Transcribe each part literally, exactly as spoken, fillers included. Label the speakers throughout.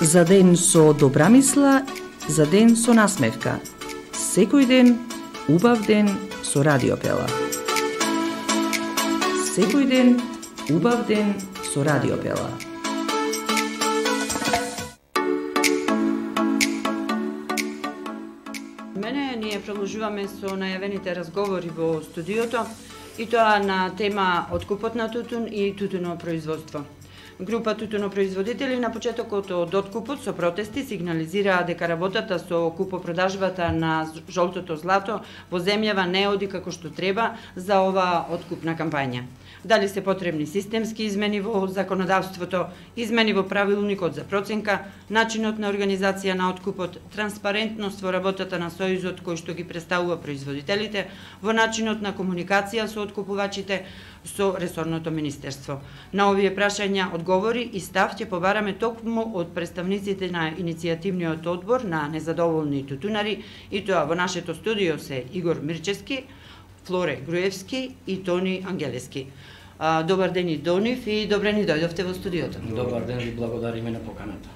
Speaker 1: За ден со добра мисла, за ден со насмевка. Секој ден, убав ден со Радио Пела. Секој ден, убав ден со Радио Пела.
Speaker 2: Мене ние продолжуваме со најавените разговори во студиото и тоа на тема откупот на тутун и тутунопроизводство. Група тутунопроизводители на почетокот од откупот со протести сигнализираа дека работата со купопродажбата на жолтото злато во земјава не оди како што треба за оваа откупна кампања. Дали се потребни системски измени во законодавството, измени во правилникот за проценка, начинот на организација на откупот, транспарентност во работата на сојузот кој што ги представува производителите, во начинот на комуникација со откупувачите, со ресорното министерство. На овие прашања одговори и став ќе побараме токму од представниците на иницијативниот одбор на незадоволни тутунари, и тоа во нашето студио се Игор Мирчевски, Флоре Груевски и Тони Ангелески. Добар ден и до нив и добре ни дојдовте во студиото.
Speaker 3: Добар ден и благодариме на поканата.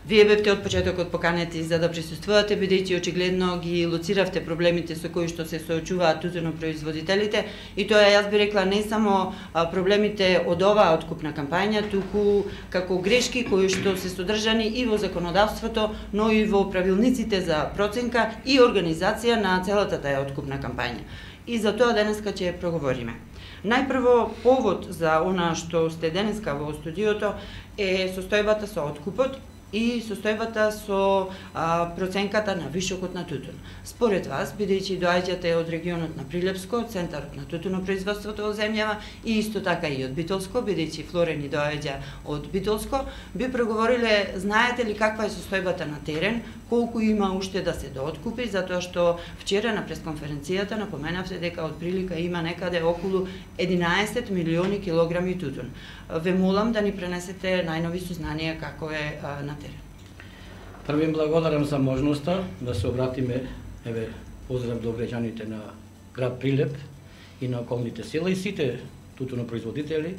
Speaker 2: Вие бевте од почетокот поканети за да присуствувате, бидејќи очигледно ги лоциравте проблемите со кои што се соочуваат тутунопроизводителите, и тоа јас би рекла не само проблемите од оваа откупна кампања, туку како грешки кои што се содржани и во законодавството, но и во правилниците за проценка и организација на целата таа откупна кампања. И за тоа денеска ќе проговориме. Најпрво, повод за она што сте денеска во студиото е состојбата со откупот и состојбата со а, проценката на вишокот на тутун. Според вас, бидејќи доаѓате од регионот на Прилепско, центарот на тутунопроизводството во земјава, и исто така и од Битолско, бидејќи Флоре ни доаѓа од Битолско, би проговориле, знаете ли каква е состојбата на терен, колку има уште да се дооткупи, затоа што вчера на пресконференцијата напоменавте дека од прилика има некаде околу единаесет милиони килограми тутун. Ве молам да ни пренесете најнови сознанија како е а, на терен.
Speaker 3: Први благодарам за можноста да се обратиме, еве, поздрав до граѓаните на град Прилеп и на околните села и сите тутунопроизводители.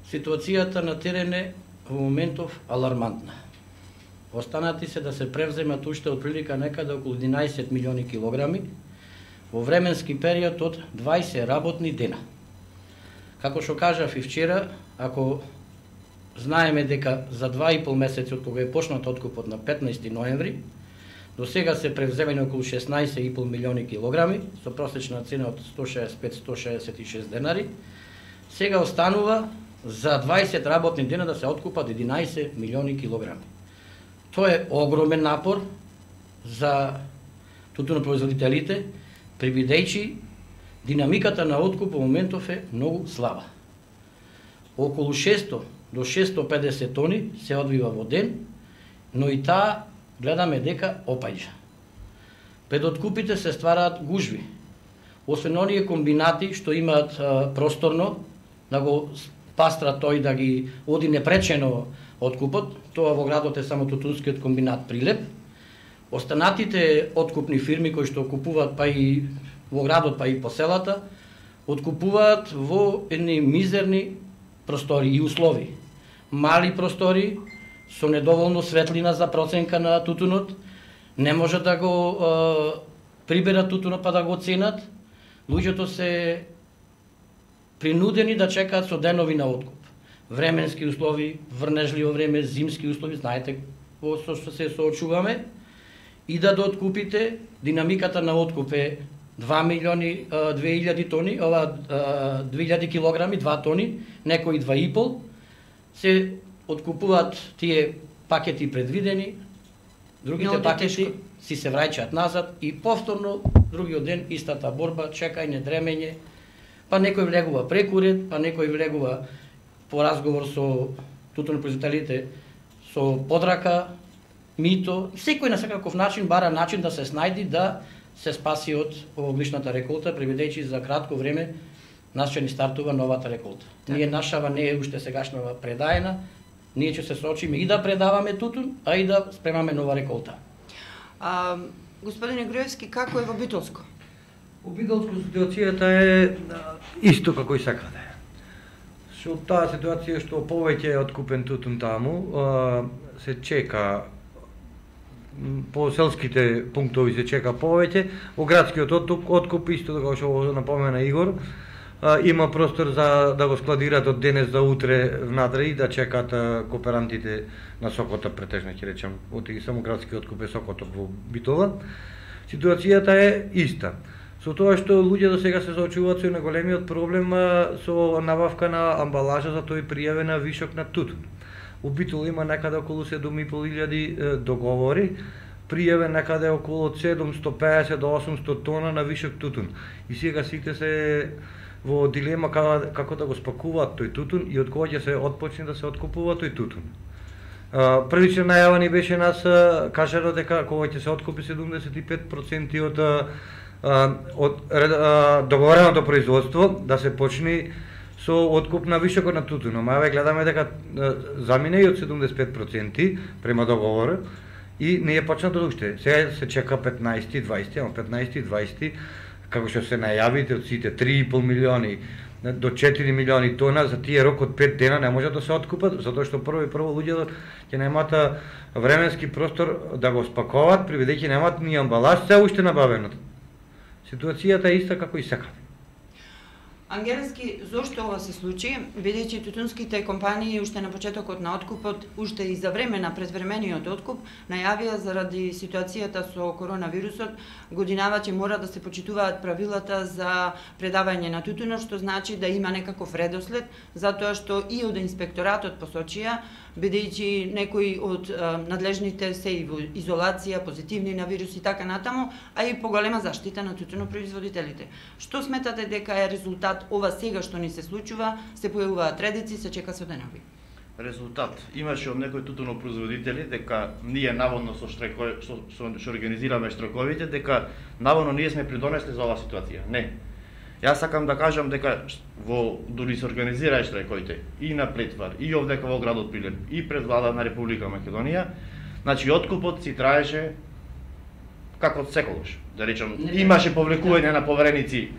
Speaker 3: Ситуацијата на терен е во моментов алармантна. Останати се да се превземат уште од прилика некаде околу единаесет милиони килограми во временски период од дваесет работни дена. Како што кажав и вчера, ако знаеме дека за два и пол месеци од кога е почнат откупот на петнаесети ноември, до сега се превземени околу шеснаесет и пол милиони килограми со просечна цена од сто шеесет и пет до сто шеесет и шест денари, сега останува за дваесет работни дена да се откупат единаесет милиони килограми. Тоа е огромен напор за тутунопроизводителите, прибидејќи динамиката на откуп во моментов е многу слаба. Околу шесто до шесто и педесет тони се одвива во ден, но и таа гледаме дека опаѓа. Пред откупите се ствараат гужви. Освен оние комбинати што имаат а, просторно да го пастра тој да ги оди непречено откупот, тоа во градот е само тутунскиот комбинат Прилеп. Останатите откупни фирми кои што купуваат па и во градот па и по селата, откупуваат во едни мизерни простори и услови. Мали простори со недоволно светлина за проценка на тутунот, не може да го е, приберат тутунот па да го оценат. Луѓето се принудени да чекаат со денови на откуп. Временски услови, врнежливо време, зимски услови, знаете во со што се соочуваме, и да дооткупите, динамиката на откуп е два милиони две илјади тони, ова две илјади килограми, два тони, некои два и пол, се откупуваат тие пакети предвидени, другите no, пакети тешко. Си се враќаат назад и повторно другиот ден истата борба, чекање, дремење, па некој влегува прекурет, па некој влегува по разговор со тутунопроизводителите со подрака, мито, секој на секаков начин бара начин да се снајди да се спаси од овоглишната реколта, преведејќи за кратко време нас ќе ни стартува новата реколта. Так. Ние нашава не е уште сегашнава предаена, ние ќе се соочиме и да предаваме тутун, а и да спремаме нова реколта.
Speaker 2: А, господине Груевски, како е во Битолско?
Speaker 4: Во Битолско ситуацијата е исто како и секаде. Со таа ситуација што повеќе е откупен тутун таму, се чека по селските пунктови се чека повеќе, во градскиот откуп исто како што напомена Игор, има простор за да го складираат од денес за утре внатре и да чекаат кооперантите на Сокотоп, претежно ќе речем, од и само градски откуп е Сокотоп во Битола. Ситуацијата е иста. Со тоа што луѓе до сега се соочуваат со наголемиот проблем со набавка на амбалажа за тој пријавена вишок на тутун. У Битола има некаде околу седум и пол илјади договори, пријавен некаде околу седумстотини и песет до осумстотини тона на вишок тутун. И сега сите се во дилема како, како да го спакуваат тој тутун и од кога ќе се отпочне да се откупува тој тутун. Првично најава ни беше нас кажано дека кога ќе се откупи седумдесет и пет проценти од од договореното производство да се почне со откуп на вишокот на тутун. Ама ве гледаме дека замине и од седумдесет и пет проценти према договор и не е почнато уште. Сега се чека петнаесет и дваесет, ама петнаесет и дваесет како што се најавите од сите три и пол милиони до четири милиони тона за тие рок од пет дена не може да се откупат, затоа што прво и прво луѓето ќе немаат временски простор да го спакуваат, бидејќи немаат ни амбалаж се уште набавено. Ситуацијата е иста како и секаде.
Speaker 2: Ангелски, зошто ова се случи, бидејќи тутунските компании уште на почетокот на откупот, уште и за време на предвремениот откуп, најавија заради ситуацијата со коронавирусот, годинава ќе мора да се почитуваат правилата за предавање на тутунот, што значи да има некаков редослед, затоа што и од инспекторатот посочија, бидејќи некои од а, надлежните се и во изолација, позитивни на вирус и така натаму, а и поголема заштита на тутунопроизводителите. Што сметате дека е резултат ова сега што ни се случува, се појавуваат редици, се чека со денови?
Speaker 5: Резултат. Имаше од некои тутунопроизводители дека ние наводно со штрајко со, со, со организираме штрајковите дека наводно ние сме придонесли за оваа ситуација. Не. Јас сакам да кажам дека во дури се организираа штрајковите и на Плетвар, и овдека во градот Прилеп, и пред влада на Република Македонија, значи откупот си траеше како секогаш. Да речам, имаше повлекување на повереници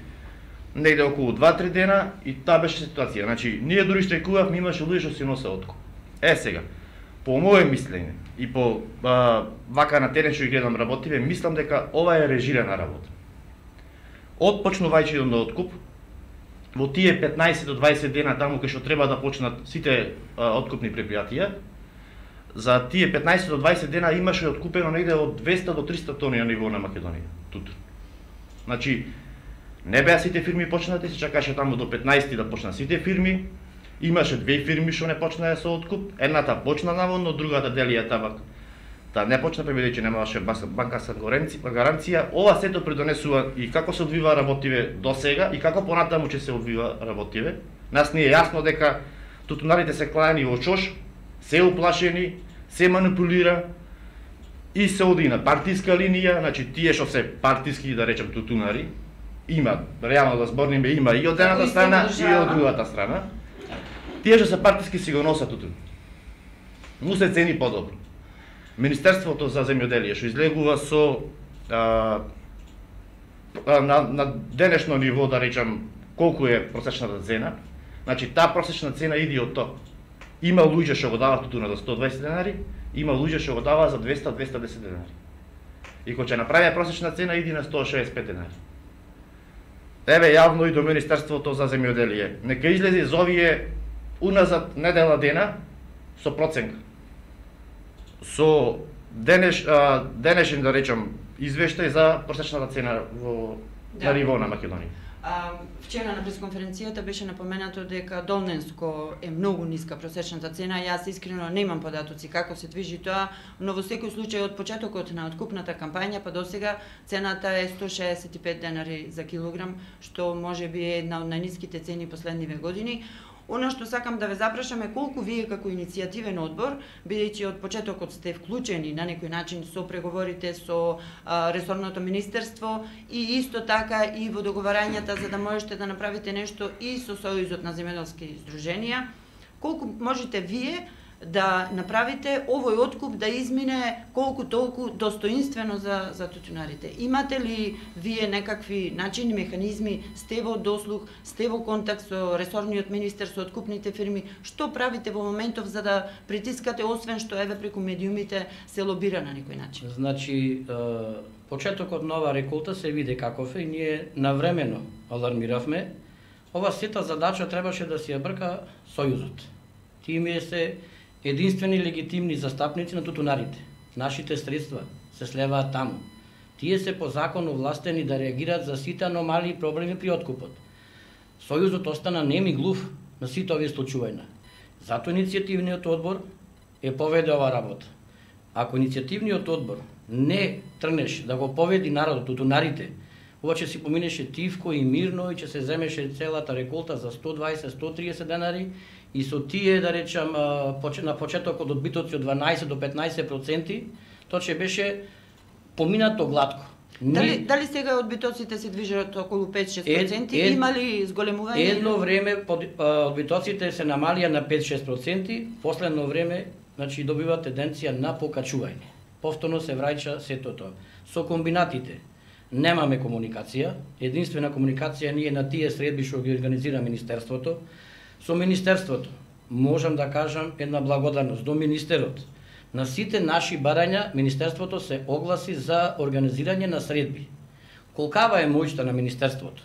Speaker 5: негде околу два-три дена и таа беше ситуација. Значи, ние дури штрајкувавме, имаше луѓе што си носе откуп. Е сега, по моје мислење и по а, вака на терен што ги гледам работиве, мислам дека ова е режирана работа. Од почнувајќи до откуп, во тие петнаесет до дваесет дена таму кај што треба да почнат сите а, откупни предпријатија, за тие петнаесет до дваесет дена имаше откупено негде од двеста до триста тони на ниво на Македонија. Тутун. Значи, не беа сите фирми почнати, се чакаше таму до петнаесети да почнат сите фирми. Имаше две фирми што не почнаа со откуп. Едната почна наводно, другата Делија Табак. Та не почна бидејќи немаше банкарска гаранција. Ова сето придонесува и како се одвива работиве до сега и како понатаму ќе се одвива работиве. Нас ни е јасно дека тутунарите се клајани во чош, се уплашени, се манипулира и се оди на партиска линија, значи тие што се партиски, да речем, тутунари, има, реално да зборниме, има и од едната страна и од другата страна. Тие што се партиски си го носат тутун. Му се цени подобро. Министерството за земјоделие што излегува со а, а, на, на денешно ниво, да речем, колку е просечната цена, значи таа просечна цена иди од тоа. Има луѓе што го даваат тутуна за сто и дваесет денари, има луѓе што го даваат за двеста до двеста и десет денари. И кога ќе направи просечна цена иди на сто и шеесет и пет денари. Еве јавно и до Министерството за земјоделие. Нека излезе за овие уназад недела дена со проценка. Со денеш, а, денешен, да речем, извештај за просечната цена во да. На ниво на Македонија.
Speaker 2: А, вчера на пресконференцијата беше напоменато дека Долненско е многу ниска просечната цена. Јас искрено немам податоци како се движи тоа, но во секој случај од почетокот на откупната кампања па до сега цената е сто шеесет и пет денари за килограм, што можеби е една од најниските цени последниве години. Оно што сакам да ве запрашам е колку вие како иницијативен одбор, бидејќи од почетокот сте вклучени на некој начин со преговорите со а, ресорното министерство и исто така и во договарањата за да можете да направите нешто и со Сојузот на земјоделски здруженија, колку можете вие да направите овој откуп да измине колку толку достоинствено за за тутунарите? Имате ли вие некакви начини, механизми, сте во дослух, сте во контакт со ресорниот министер, со откупните фирми? Што правите во моментов за да притискате, освен што еве преку медиумите се лобира на некој начин?
Speaker 3: Значи, почетокот на оваа реколта се види каков е и ние навремено алармиравме. Ова сета задача требаше да си ја брка Сојузот. Тие се единствени легитимни застапници на тутунарите. Нашите средства се слеваат таму. Тие се по закон овластени да реагираат за сите аномалии и проблеми при откупот. Сојузот остана нем и глув на сите овие случувања. Зато иницијативниот одбор е поведе ова работа. Ако иницијативниот одбор не трнеш да го поведи народот, тутунарите, ова ќе си поминеше тивко и мирно и ќе се земеше целата реколта за сто дваесет до сто триесет денари и со тие, да речам, на почетокот одбитоци од дванаесет до петнаесет проценти, тоа ќе беше поминато глатко.
Speaker 2: Дали, дали сега одбитоците се движат околу пет до шест проценти? Ед, ед, Има ли зголемување?
Speaker 3: Едно време одбитоците се намалија на пет до шест проценти, последно време значи добива тенденција на покачување. Повторно се враќа сето тоа. Со комбинатите немаме комуникација, единствена комуникација ние на тие средби што ги организира Министерството. Со Министерството можам да кажам една благодарност до Министерот. На сите наши барања Министерството се огласи за организирање на средби. Колкава е моќта на Министерството?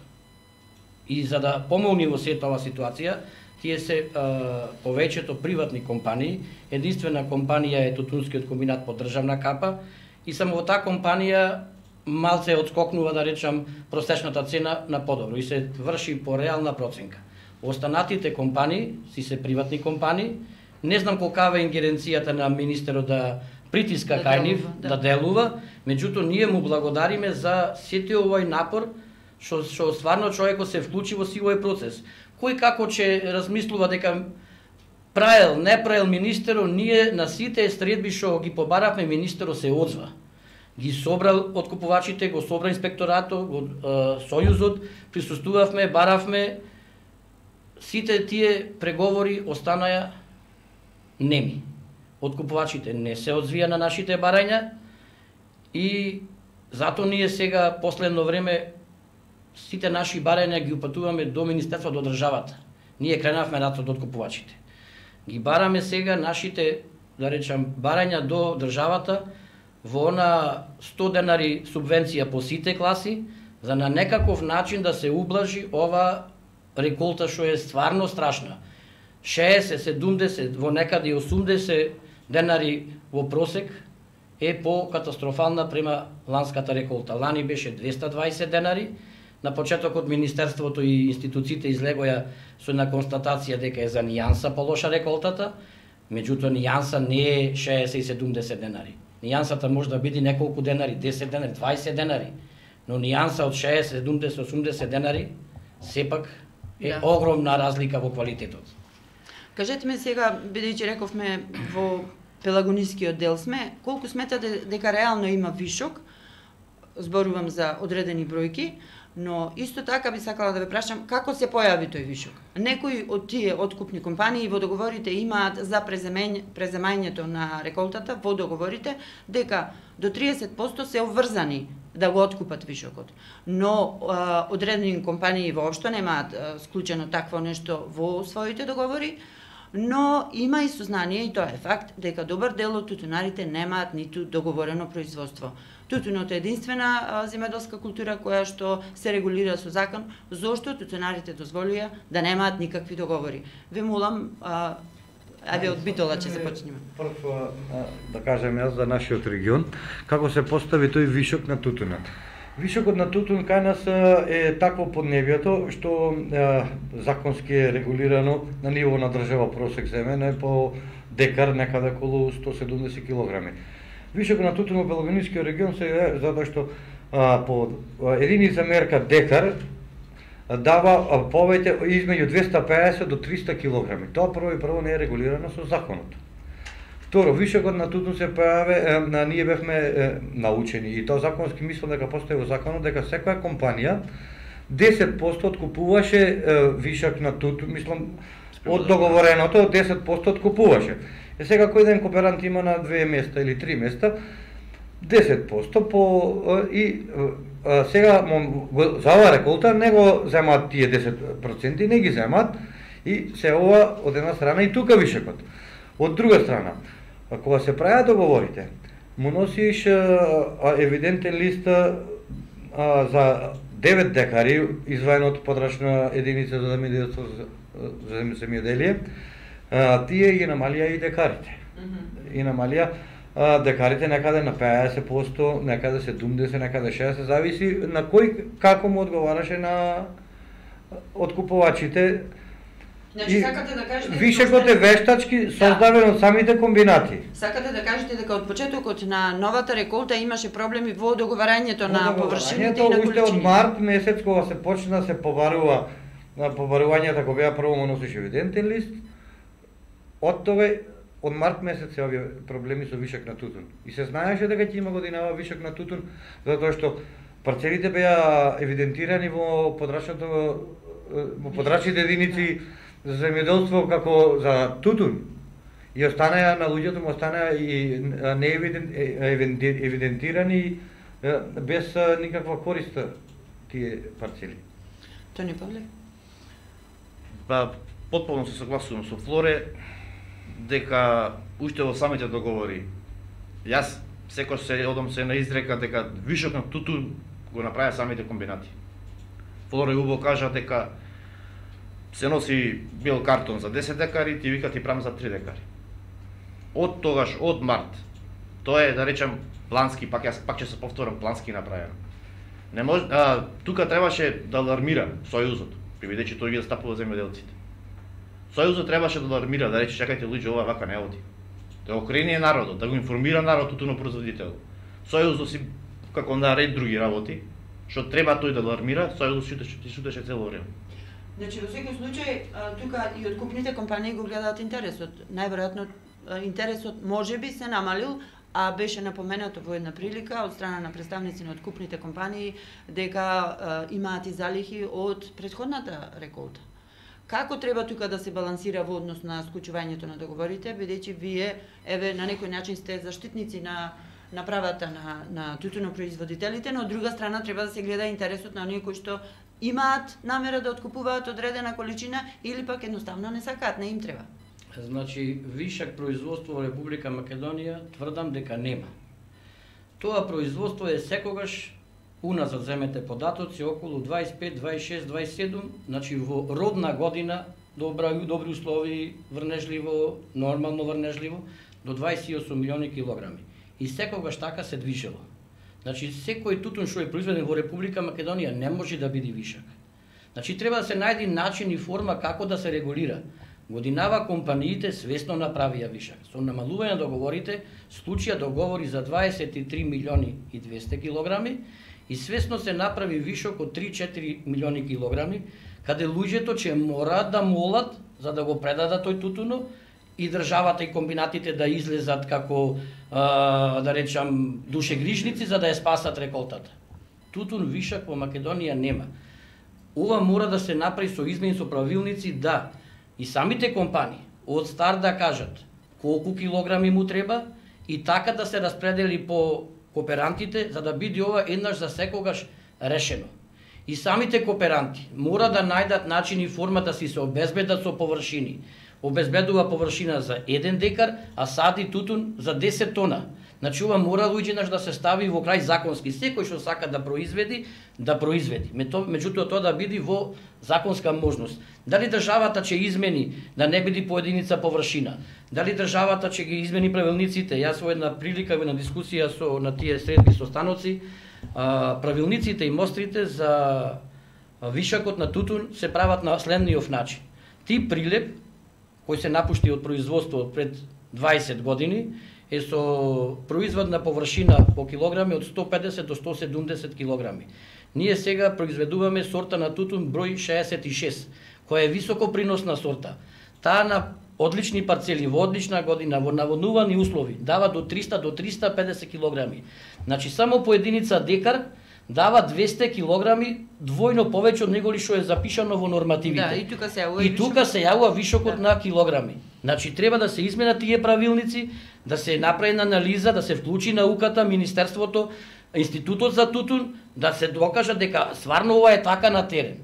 Speaker 3: И за да помогне во сета оваа ситуација, тие се а, повеќето приватни компании, единствена компанија е Тутунскиот комбинат под државна капа и само во таа компанија малце отскокнува, да речам, просечната цена на подобро и се врши по реална проценка. Останатите компании си се приватни компании. Не знам колкава е ингеренцијата на министерот да притиска да кај нив, да. да делува, меѓутоа ние му благодариме за сите овој напор што што стварно човекот се вклучи во сивој процес. Кој како ќе размислува дека праел, не праел министерот, ние на сите средби што ги побаравме, министерот се оdzва. Ги собрал откупувачите, го собра инспекторатот, го е, Сојузот, присуствувавме, баравме, сите тие преговори останаја неми. Откупувачите не се одзвија на нашите барања и зато ние сега, последно време, сите наши барања ги упатуваме до Министерството, до државата. Ние кренавме рад од откупувачите. Ги бараме сега нашите, да речам, барања до државата во на сто денари субвенција по сите класи, за на некаков начин да се ублажи ова реколта што е стварно страшна. шеесет, седумдесет, во некаде осумдесет денари во просек е по катастрофална према ланската реколта. Лани беше двеста дваесет денари, на почетокот Министерството и институциите излегоја со една констатација дека е за нијанса полоша реколтата, меѓутоа нијанса не е шеесет и седумдесет денари. Нијансата може да биде неколку денари, десет денари, дваесет денари, но нијанса од шеесет, седумдесет, осумдесет денари сепак е да. Огромна разлика во квалитетот.
Speaker 2: Кажете ме сега, бидејќи рековме во пелагонискиот дел сме, колку сметате дека реално има вишок, зборувам за одредени бројки, но исто така би сакала да ве прашам како се појави тој вишок. Некои од тие откупни компании во договорите имаат за преземањето на реколтата во договорите дека до триесет проценти се обврзани да го откупат вишокот. Но а, одредени компании воопшто немаат а, склучено такво нешто во своите договори, но има и сознание, и тоа е факт, дека добар дел од тутунарите немаат ниту договорено производство. Тутунот е единствена а, земјоделска култура која што се регулира со закон, зошто тутунарите дозволија да немаат никакви договори. Ве молам, а, Еве од Битола ќе започнеме.
Speaker 4: Прво да кажем јас за нашиот регион, како се постави тој вишок на тутунот. Вишокот на тутун кај нас е такво поднебјето што е, законски е регулирано на ниво на држава просек земен е по декар некаде околу сто седумдесет килограми. Вишокот на тутун во Пелагонискиот регион се е затоа што а, по единица мерка декар дава повеќе измеѓу двеста пеесет до триста килограми. Тоа прво и прво не е регулирано со законот. Второ, вишокот на тутун се појаве, на ние бевме е, научени и тоа законски мислам дека постои во законот дека секоја компанија десет проценти откупуваше е, вишок на тутун, мислам од договореното десет проценти откупуваше. Е сега кој ден кооперант има на две места или три места, десет проценти по и а, сега го, за ова реколта не го земаат тие десет проценти, не ги земаат и се ова од една страна и тука вишекот. Од друга страна, кога се прават договорите, му носиш а, евидентен лист а, за девет декари изваен од подрачна единица за земјоделство за земјоделие, тие ги намалија и декарите. Mm -hmm. И намалија а, декарите некаде на петдесет проценти, некаде седумдесет, некаде шеесет, зависи на кој како му одговараше на откупувачите.
Speaker 2: Значи, сакате да кажете...
Speaker 4: Вишекот е вештачки создаден да. од самите комбинати.
Speaker 2: Сакате да кажете дека од почетокот на новата реколта имаше проблеми во договарањето на површините и на количините.
Speaker 4: Уште од март месец, кога се почна се побарува, на побарувањата кога беа прво му носиш евидентен лист, од тога, од март месец се овие проблеми со вишок на тутун. И се знаеше дека ќе има годинава вишок на тутун, затоа што парцелите беа евидентирани во подрачното, во подрачните единици за земјоделство како за тутун. И останаа на луѓето му останаа и не евидентирани без никаква корист тие парцели.
Speaker 2: Тони Павле?
Speaker 5: Па, потполно се согласувам со Флоре дека уште во самите договори јас секој се одам се на изрека дека вишок на тутун го направија самите комбинати. Флоре убаво кажа дека се носи бел картон за десет декари, ти вика ти правам за три декари. Од тогаш, од март, тоа е, да речем, плански, пак јас пак ќе се повторам, плански направено. Не може, а, тука требаше да алармира Сојузот, бидејќи тој ги застапува земјоделците. Сојузот требаше да алармира, да рече, чекајте луѓе, ова вака не оди. Да го окрени народот, да го информира народот тутунопроизводител. Сојузот си како на ред други работи, што треба тој да алармира, Сојузот ти шутеше цело време.
Speaker 2: Значи, во секој случај, тука и откупните компании го гледаат интересот. Најверојатно интересот можеби се намалил, а беше напоменато во една прилика од страна на представници на откупните компании дека а, имаат и залихи од претходната реколта. Како треба тука да се балансира во однос на склучувањето на договорите, бидејќи вие, еве, на некој начин сте заштитници на на правата на, на тутунопроизводителите, но од друга страна треба да се гледа интересот на оние кои што имаат намера да откупуваат одредена количина или пак едноставно не сакаат, не им треба.
Speaker 3: Значи, вишак производство во Република Македонија тврдам дека нема. Тоа производство е секогаш, уназад земете податоци, околу дваесет и пет, дваесет и шест, дваесет и седум, значи во родна година, добра, добри услови, врнежливо, нормално врнежливо, до дваесет и осум милиони килограми. И секогаш така се движело. Значи, секој тутун што е произведен во Република Македонија не може да биде вишак. Значи, треба да се најде начин и форма како да се регулира. Годинава компаниите свесно направија вишак. Со намалување на договорите, случија договори за дваесет и три милиони и двесте килограми и свесно се направи вишок од три до четири милиони килограми, каде луѓето ќе мораат да молат за да го предадат тој тутуно и државата и комбинатите да излезат како, а, да речам, душегрижници за да ја спасат реколтата. Тутун вишак во Македонија нема. Ова мора да се направи со измени со правилници, да и самите компании од старт да кажат колку килограми му треба и така да се распредели по кооперантите за да биде ова еднаш за секогаш решено. И самите кооперанти мора да најдат начин и форма да си се обезбедат со површини. Обезбедува површина за еден декар, а сади тутун за десет тона. Значи ова мора луѓе да се стави во крај законски. Секој што сака да произведи, да произведи. Меѓутоа тоа да биде во законска можност. Дали државата ќе измени да не биде по единица површина? Дали државата ќе ги измени правилниците? Јас во една прилика, во една дискусија со на тие средби со станоци, правилниците и мострите за вишакот на тутун се прават на следниот начин. Ти прилеп кој се напушти од производство пред дваесет години е со производна површина по килограми од сто педесет до сто седумдесет килограми. Ние сега произведуваме сорта на тутун број шеесет и шест, која е високо приносна сорта. Таа на одлични парцели во одлична година во наводнувани услови дава до триста до триста и педесет килограми. Значи само по единица декар дава двесте килограми двојно повеќе од него ли што е запишано во нормативите.
Speaker 2: Да, и тука се јавува
Speaker 3: и тука се јавува вишокот
Speaker 2: да.
Speaker 3: на килограми. Значи треба да се изменат тие правилници, да се направи анализа, да се вклучи науката, министерството, институтот за тутун, да се докажа дека стварно ова е така на терен.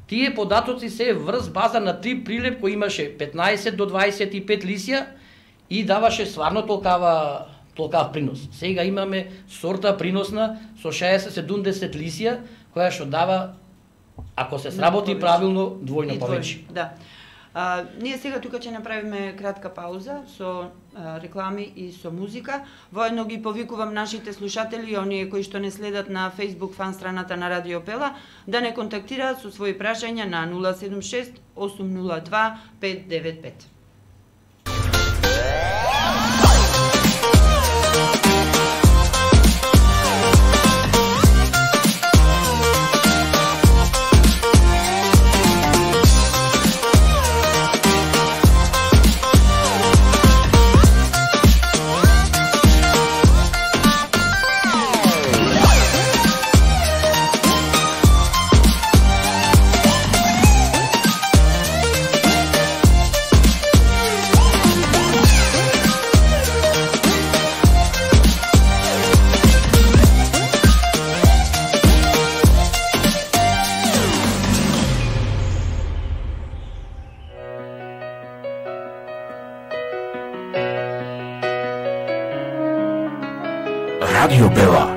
Speaker 3: Тие податоци се врз база на три прилеп кој имаше петнаесет до дваесет и пет лисија и даваше стварно толкава толкав принос. Сега имаме сорта приносна со шеесет до седумдесет лисија, која што дава, ако се сработи правилно, двојно повеќе.
Speaker 2: Да. А, ние сега тука ќе направиме кратка пауза со а, реклами и со музика. Воедно ги повикувам нашите слушатели и оние кои што не следат на Facebook фан страната на Радио Пела да не контактираат со своји прашања на нула седум шест осум нула два пет девет пет.
Speaker 6: Radio Pela.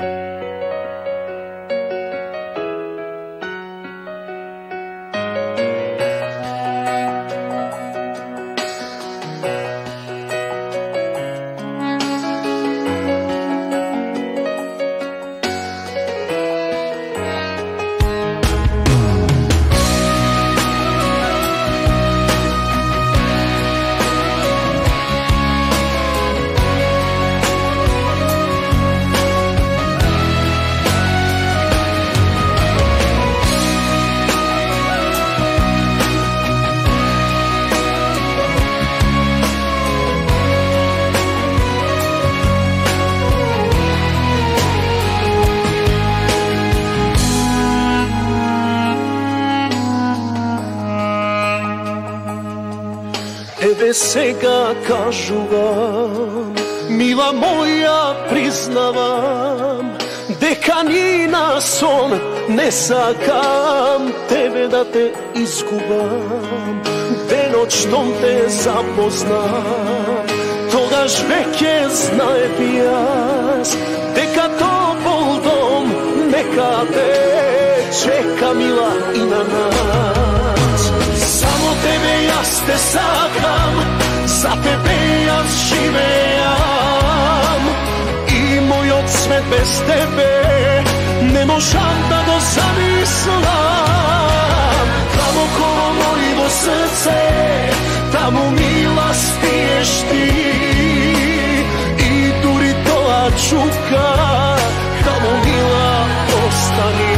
Speaker 7: Еве сега кажувам, мила моја, признавам, дека ни на сон не сакам тебе да те изгубам. Денот штом те запознам, тогаш веќе знаев јас дека топол дом некаде чека, мила, и на нас. Само тебе јас те сакам, за тебе јас живеам, и мојот свет без тебе не можам да го замислам. Таму коло мојво срце, таму, мила, спиеш ти, и дури тоа чука, таму, мила, остани.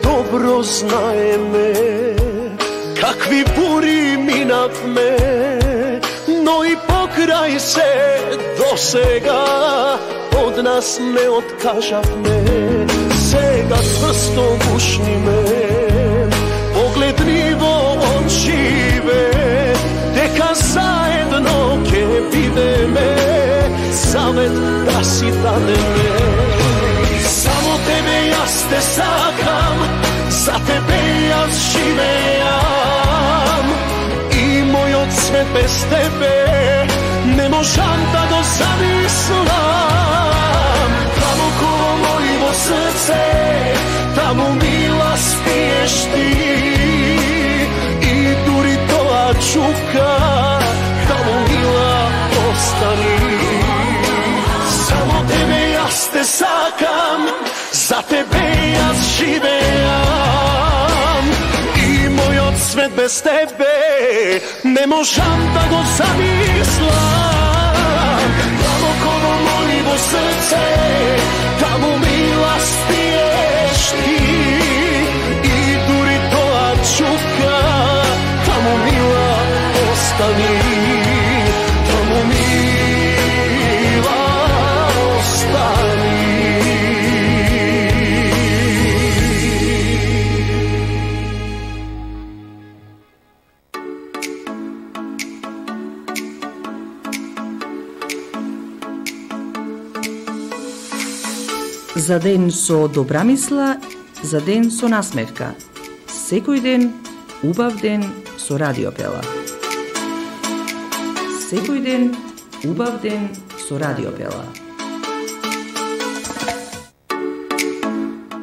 Speaker 7: Добро знаеме какви бури минавме, но и покрај се до сега од нас не откажавме. Сега цврсто гушниме, поглед ни во очиве, дека заедно ќе бидеме, завет да си дадеме. Само тебе јас те сакам, за тебе јас живеам, и мојот свет без тебе не можам да го замислам. Таму коло мојво срце, таму, мила, спиеш ти, čuka, tamo mila ostani. Samo tebe jaz te sakam, za tebe jaz živeam. I moj od svet bez tebe ne možam da go zamislam. Tamo kodo moljivo srce, tamo mila stiješ ti. I duri toa čuka, tamo mila ostani. Tamo mila ostani.
Speaker 1: За ден со добра мисла, за ден со насмевка. Секој ден, убав ден со Радио Пела. Секој ден, убав ден со Радио Пела.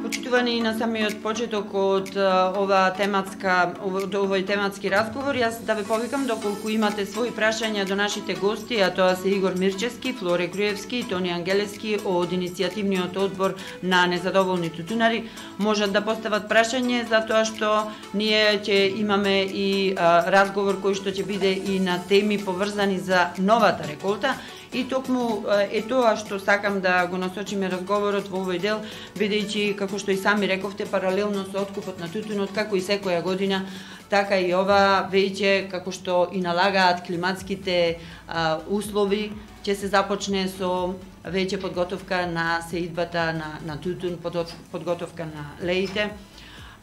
Speaker 2: Почитувани на самиот почеток од ова тематска од овој тематски разговор, јас да ве повикам доколку имате своји прашања до нашите гости, а тоа се Игор Мирчевски, Флоре Груевски и Тони Ангелески од иницијативниот одбор на незадоволни тутунари, можат да постават прашање за тоа што ние ќе имаме и а, разговор кој што ќе биде и на теми поврзани за новата реколта. И токму е тоа што сакам да го насочиме разговорот во овој дел, бидејќи, како што и сами рековте, паралелно со откупот на тутунот, како и секоја година, така и ова веќе, како што и налагаат климатските а, услови, ќе се започне со веќе подготовка на сеидбата на, на тутун, подготовка на леите.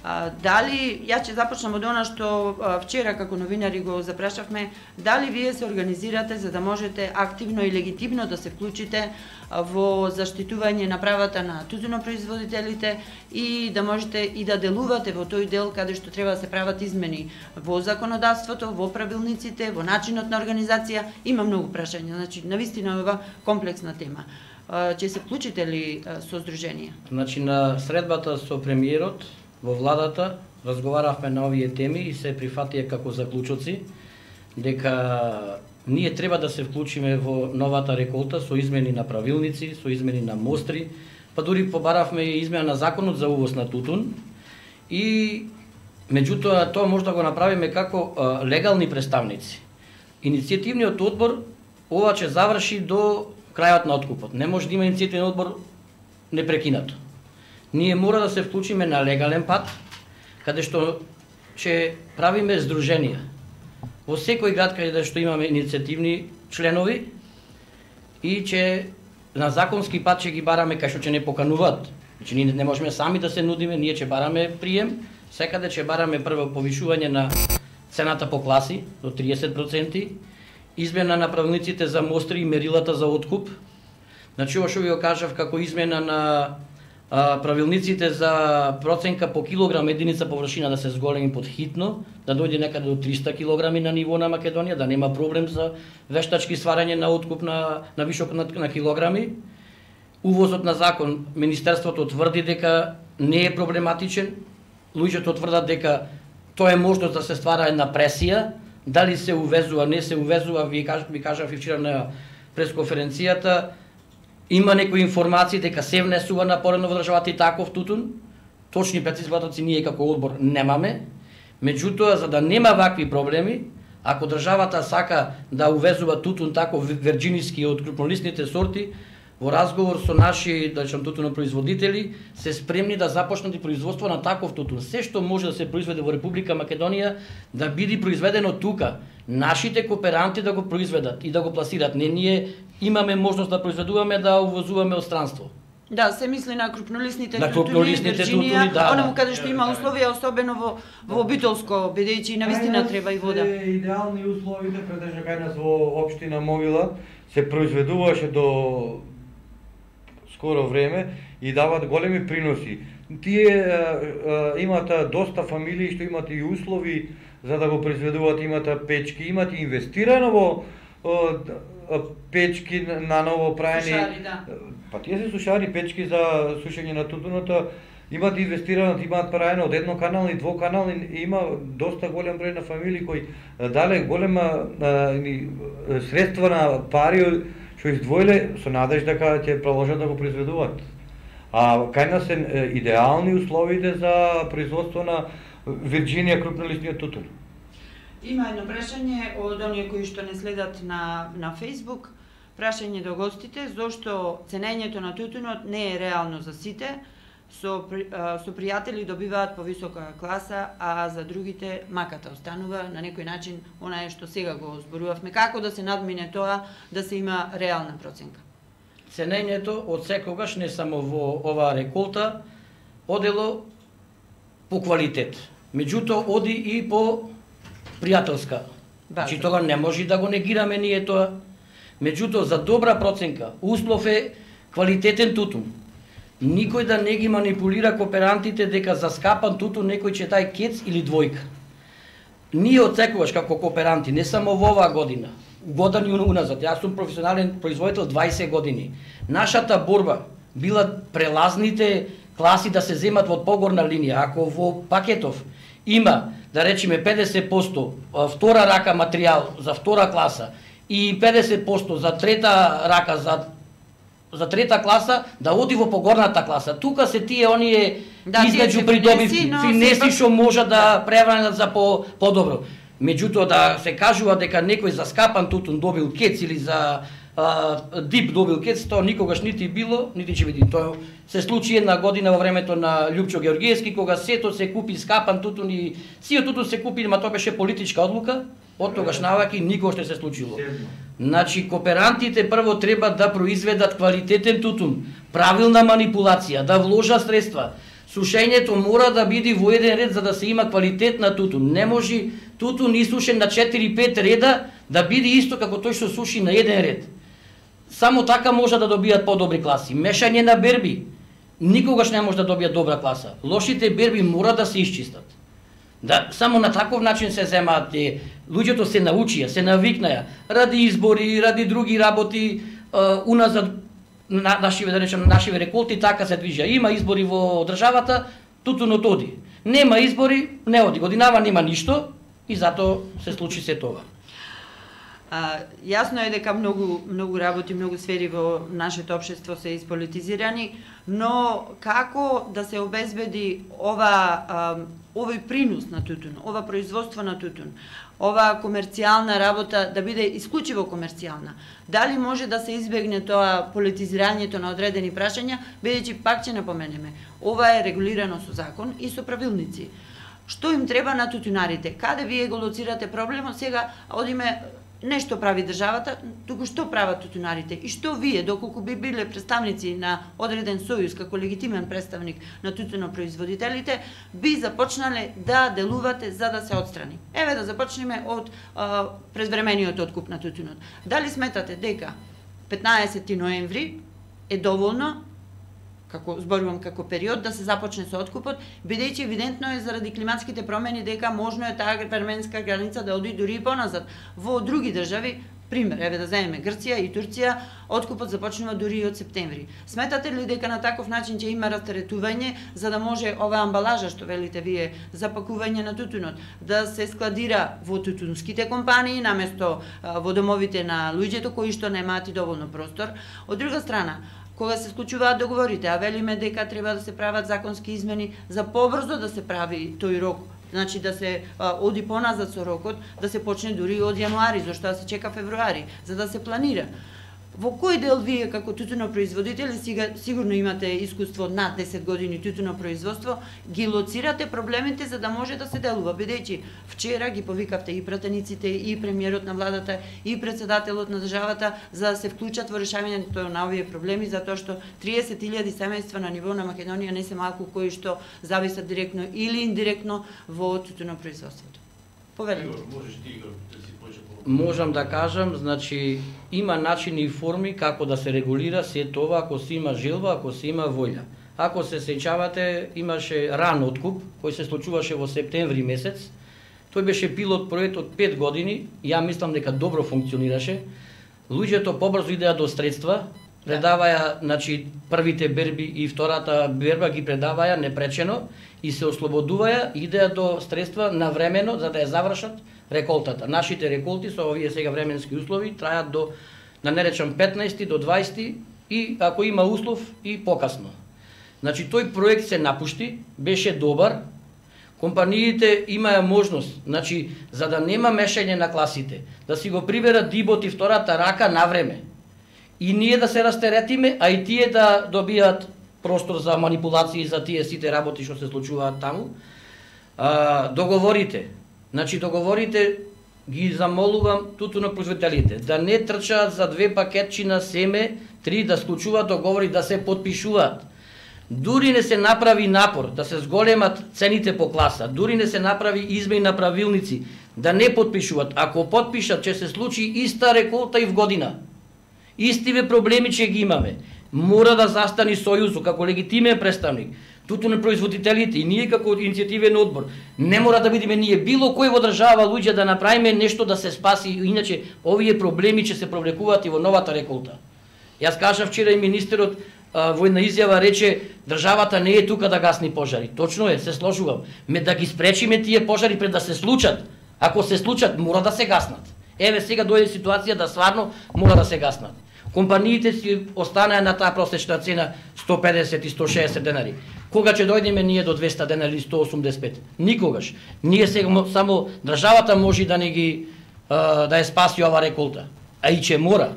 Speaker 2: А, дали, ја ќе започнам од она што а, вчера како новинари го запрашавме, дали вие се организирате за да можете активно и легитимно да се вклучите а, во заштитување на правата на тутунопроизводителите и да можете и да делувате во тој дел каде што треба да се прават измени во законодавството, во правилниците, во начинот на организација. Има многу прашања, значи навистина ова комплексна тема. А, ќе се вклучите ли а, со здруженија?
Speaker 3: Значи на средбата со премиерот во владата разговаравме на овие теми и се прифатија како заклучоци дека ние треба да се вклучиме во новата реколта со измени на правилници, со измени на мостри, па дури побаравме и измена на законот за увоз на тутун и меѓутоа тоа може да го направиме како а, легални представници. Иницијативниот одбор ова ќе заврши до крајот на откупот. Не може да има иницијативен одбор непрекинато. Ние мора да се вклучиме на легален пат, каде што ќе правиме здруженија. Во секој град каде што имаме иницијативни членови и ќе на законски пат ќе ги бараме кај што ќе не покануваат. Значи ние не можеме сами да се нудиме, ние ќе бараме прием, секаде ќе бараме прво повишување на цената по класи до триесет проценти, измена на правилниците за мостри и мерилата за откуп. Значи ова што ви го кажав како измена на А, правилниците за проценка по килограм единица површина да се зголеми под хитно, да дојде некаде до триста килограми на ниво на Македонија, да нема проблем за вештачки сварање на откуп на, на вишок на, на килограми. Увозот на закон, Министерството тврди дека не е проблематичен, луѓето тврдат дека тоа е можност да се ствара една пресија, дали се увезува, не се увезува, ви, каж, ви кажав и вчера на пресконференцијата, има некои информации дека се внесува на порено во државата и таков тутун. Точни прецизни податоци ние како одбор немаме. Меѓутоа, за да нема вакви проблеми, ако државата сака да увезува тутун таков верџиниски од крупнолистните сорти, во разговор со наши, да речам, тутунопроизводители, се спремни да започнат и производство на таков тутун. Се што може да се произведе во Република Македонија, да биде произведено тука. Нашите кооперанти да го произведат и да го пласират. Не ние имаме можност да произведуваме, да увозуваме од странство.
Speaker 2: Да, се мисли на крупнолистните
Speaker 3: на крупнолистните тутуни, да,
Speaker 2: онаму каде што има условија, особено во во обителско, бидејќи навистина треба и вода.
Speaker 4: Идеални условите претежно кај нас во општина Мовила се произведуваше до скоро време и дават големи приноси. Тие а, а, имат доста фамилии што имат и услови за да го произведуваат, имат печки, имат и инвестирано во а, печки на ново праени.
Speaker 2: Сушари, да.
Speaker 4: Па тие се сушари, печки за сушење на тутуното имаат инвестирано, имаат праено од едноканални, двоканални, има доста голем број на фамилии кои дале голема а, средства на пари што издвоиле со надеж дека ќе продолжат да го произведуваат. А кај нас се идеални условите за производство на Вирџинија крупнолистниот тутун.
Speaker 2: Има едно прашање од оние кои што не следат на на Facebook. Прашање до гостите зошто ценењето на тутунот не е реално за сите. Со со пријатели добиваат повисока класа, а за другите маката останува на некој начин онае што сега го зборувавме. Како да се надмине тоа да се има реална проценка?
Speaker 3: Ценењето од секогаш не само во оваа реколта одело по квалитет. Меѓутоа оди и по пријателска. Значи тоа не може да го негираме ние тоа. Меѓутоа за добра проценка услов е квалитетен тутун. Никој да не ги манипулира кооперантите дека за скапан тутун некој ќе тај кец или двојка. Ние од секогаш како кооперанти, не само во оваа година, години уназад, јас сум професионален производител дваесет години. Нашата борба била прелазните класи да се земат во погорна линија. Ако во пакетов има, да речеме, педесет проценти втора рака материјал за втора класа и педесет проценти за трета рака за за трета класа, да оди во погорната класа. Тука се тие оние да, измеѓу придобивки, финеси што може да превранат за по подобро. Меѓутоа да се кажува дека некој за скапан тутун добил кец или за а, дип добил кец, тоа никогаш нити било, нити ќе биде. Тоа се случи една година во времето на Љупчо Георгиевски, кога сето се купи скапан тутун и сиот тутун се купи, ма тоа беше политичка одлука. Од тогаш наваки никогаш не се случило. Значи, кооперантите прво треба да произведат квалитетен тутун, правилна манипулација, да вложат средства. Сушењето мора да биде во еден ред за да се има квалитет на тутун. Не може тутун исушен на четири-пет реда да биде исто како тој што суши на еден ред. Само така може да добијат подобри класи. Мешање на берби никогаш не може да добијат добра класа. Лошите берби мора да се исчистат. Да, само на таков начин се земаат. Луѓето се научија, се навикнаја, ради избори, ради други работи, uh, уназад на нашиве, да речем, нашиве реколти, така се движа. Има избори во државата, тутунот оди. Нема избори, не оди. Годинава нема ништо и затоа се случи се тоа.
Speaker 2: А, јасно е дека многу многу работи, многу сфери во нашето општество се исполитизирани, но како да се обезбеди ова а, овој принос на тутун, ова производство на тутун, ова комерцијална работа да биде исклучиво комерцијална? Дали може да се избегне тоа политизирањето на одредени прашања, бидејќи пак ќе напоменеме, ова е регулирано со закон и со правилници. Што им треба на тутунарите? Каде вие го лоцирате проблемот? Сега одиме нешто прави државата, туку што прават тутунарите и што вие, доколку би биле представници на одреден сојуз како легитимен представник на тутунопроизводителите, би започнале да делувате за да се отстрани. Еве да започнеме од а, презвремениот откуп на тутунот. Дали сметате дека петнаесети ноември е доволно, како зборувам како период, да се започне со откупот, бидејќи евидентно е заради климатските промени дека можно е таа временска граница да оди дури и поназад. Во други држави, пример, еве да земеме Грција и Турција, откупот започнува дури и од септември. Сметате ли дека на таков начин ќе има растаретување за да може ова амбалажа што велите вие за пакување на тутунот да се складира во тутунските компании наместо во домовите на луѓето кои што немаат и доволно простор? Од друга страна, кога се склучуваат договорите, а велиме дека треба да се прават законски измени за побрзо да се прави тој рок, значи да се а, оди поназад со рокот, да се почне дури од јануари, зашто да се чека февруари, за да се планира. Во кој дел вие како тутунопроизводители, сега сигурно имате искуство над десет години тутунопроизводство, ги лоцирате проблемите за да може да се делува, бидејќи вчера ги повикавте и пратениците, и премиерот на владата, и председателот на државата за да се вклучат во решавањето на овие проблеми, затоа што триесет илјади семејства на ниво на Македонија не се малку кои што зависат директно или индиректно во тутунопроизводството. Повелете.
Speaker 3: Можам да кажам, значи има начини и форми како да се регулира се тоа ако се има желба, ако се има волја. Ако се сеќавате, имаше ран откуп кој се случуваше во септември месец. Тој беше пилот проект од пет години, ја мислам дека добро функционираше. Луѓето побрзо идеа до средства, предаваја, значи првите берби и втората берба ги предаваја непречено и се ослободуваја, идеја до средства навремено за да ја завршат реколтата. Нашите реколти со овие сега временски услови трајат до, да не речам, петнаесети до дваесети и ако има услов и покасно. Значи тој проект се напушти, беше добар. Компаниите имаја можност, значи за да нема мешање на класите, да си го приберат дибот и втората рака на време. И ние да се растеретиме, а и тие да добијат простор за манипулации за тие сите работи што се случуваат таму. А, договорите, значи договорите ги замолувам тутунопроизводителите да не трчаат за две пакетчи на семе, три да склучуваат договори, да се потпишуваат. Дури не се направи напор да се зголемат цените по класа, дури не се направи измени на правилници да не потпишуваат. Ако потпишат, ќе се случи иста реколта и в година. Истиве проблеми ќе ги имаме. Мора да застани Сојузот како легитимен представник, тутунопроизводителите и ние како иницијативен одбор. Не мора да бидеме ние било кој во држава луѓе да направиме нешто да се спаси, иначе овие проблеми ќе се провлекуваат и во новата реколта. Јас кажав вчера и министерот во една изјава рече државата не е тука да гасни пожари. Точно е, се сложувам. Ме да ги спречиме тие пожари пред да се случат. Ако се случат, мора да се гаснат. Еве сега дојде ситуација да стварно мора да се гаснат. Компаниите си останаа на таа просечна цена сто педесет и сто шеесет денари. Кога ќе дојдеме ние до двеста денари или сто осумдесет и пет? Никогаш. Ние сега само државата може да не ги да ја спаси ова реколта. А и ќе мора.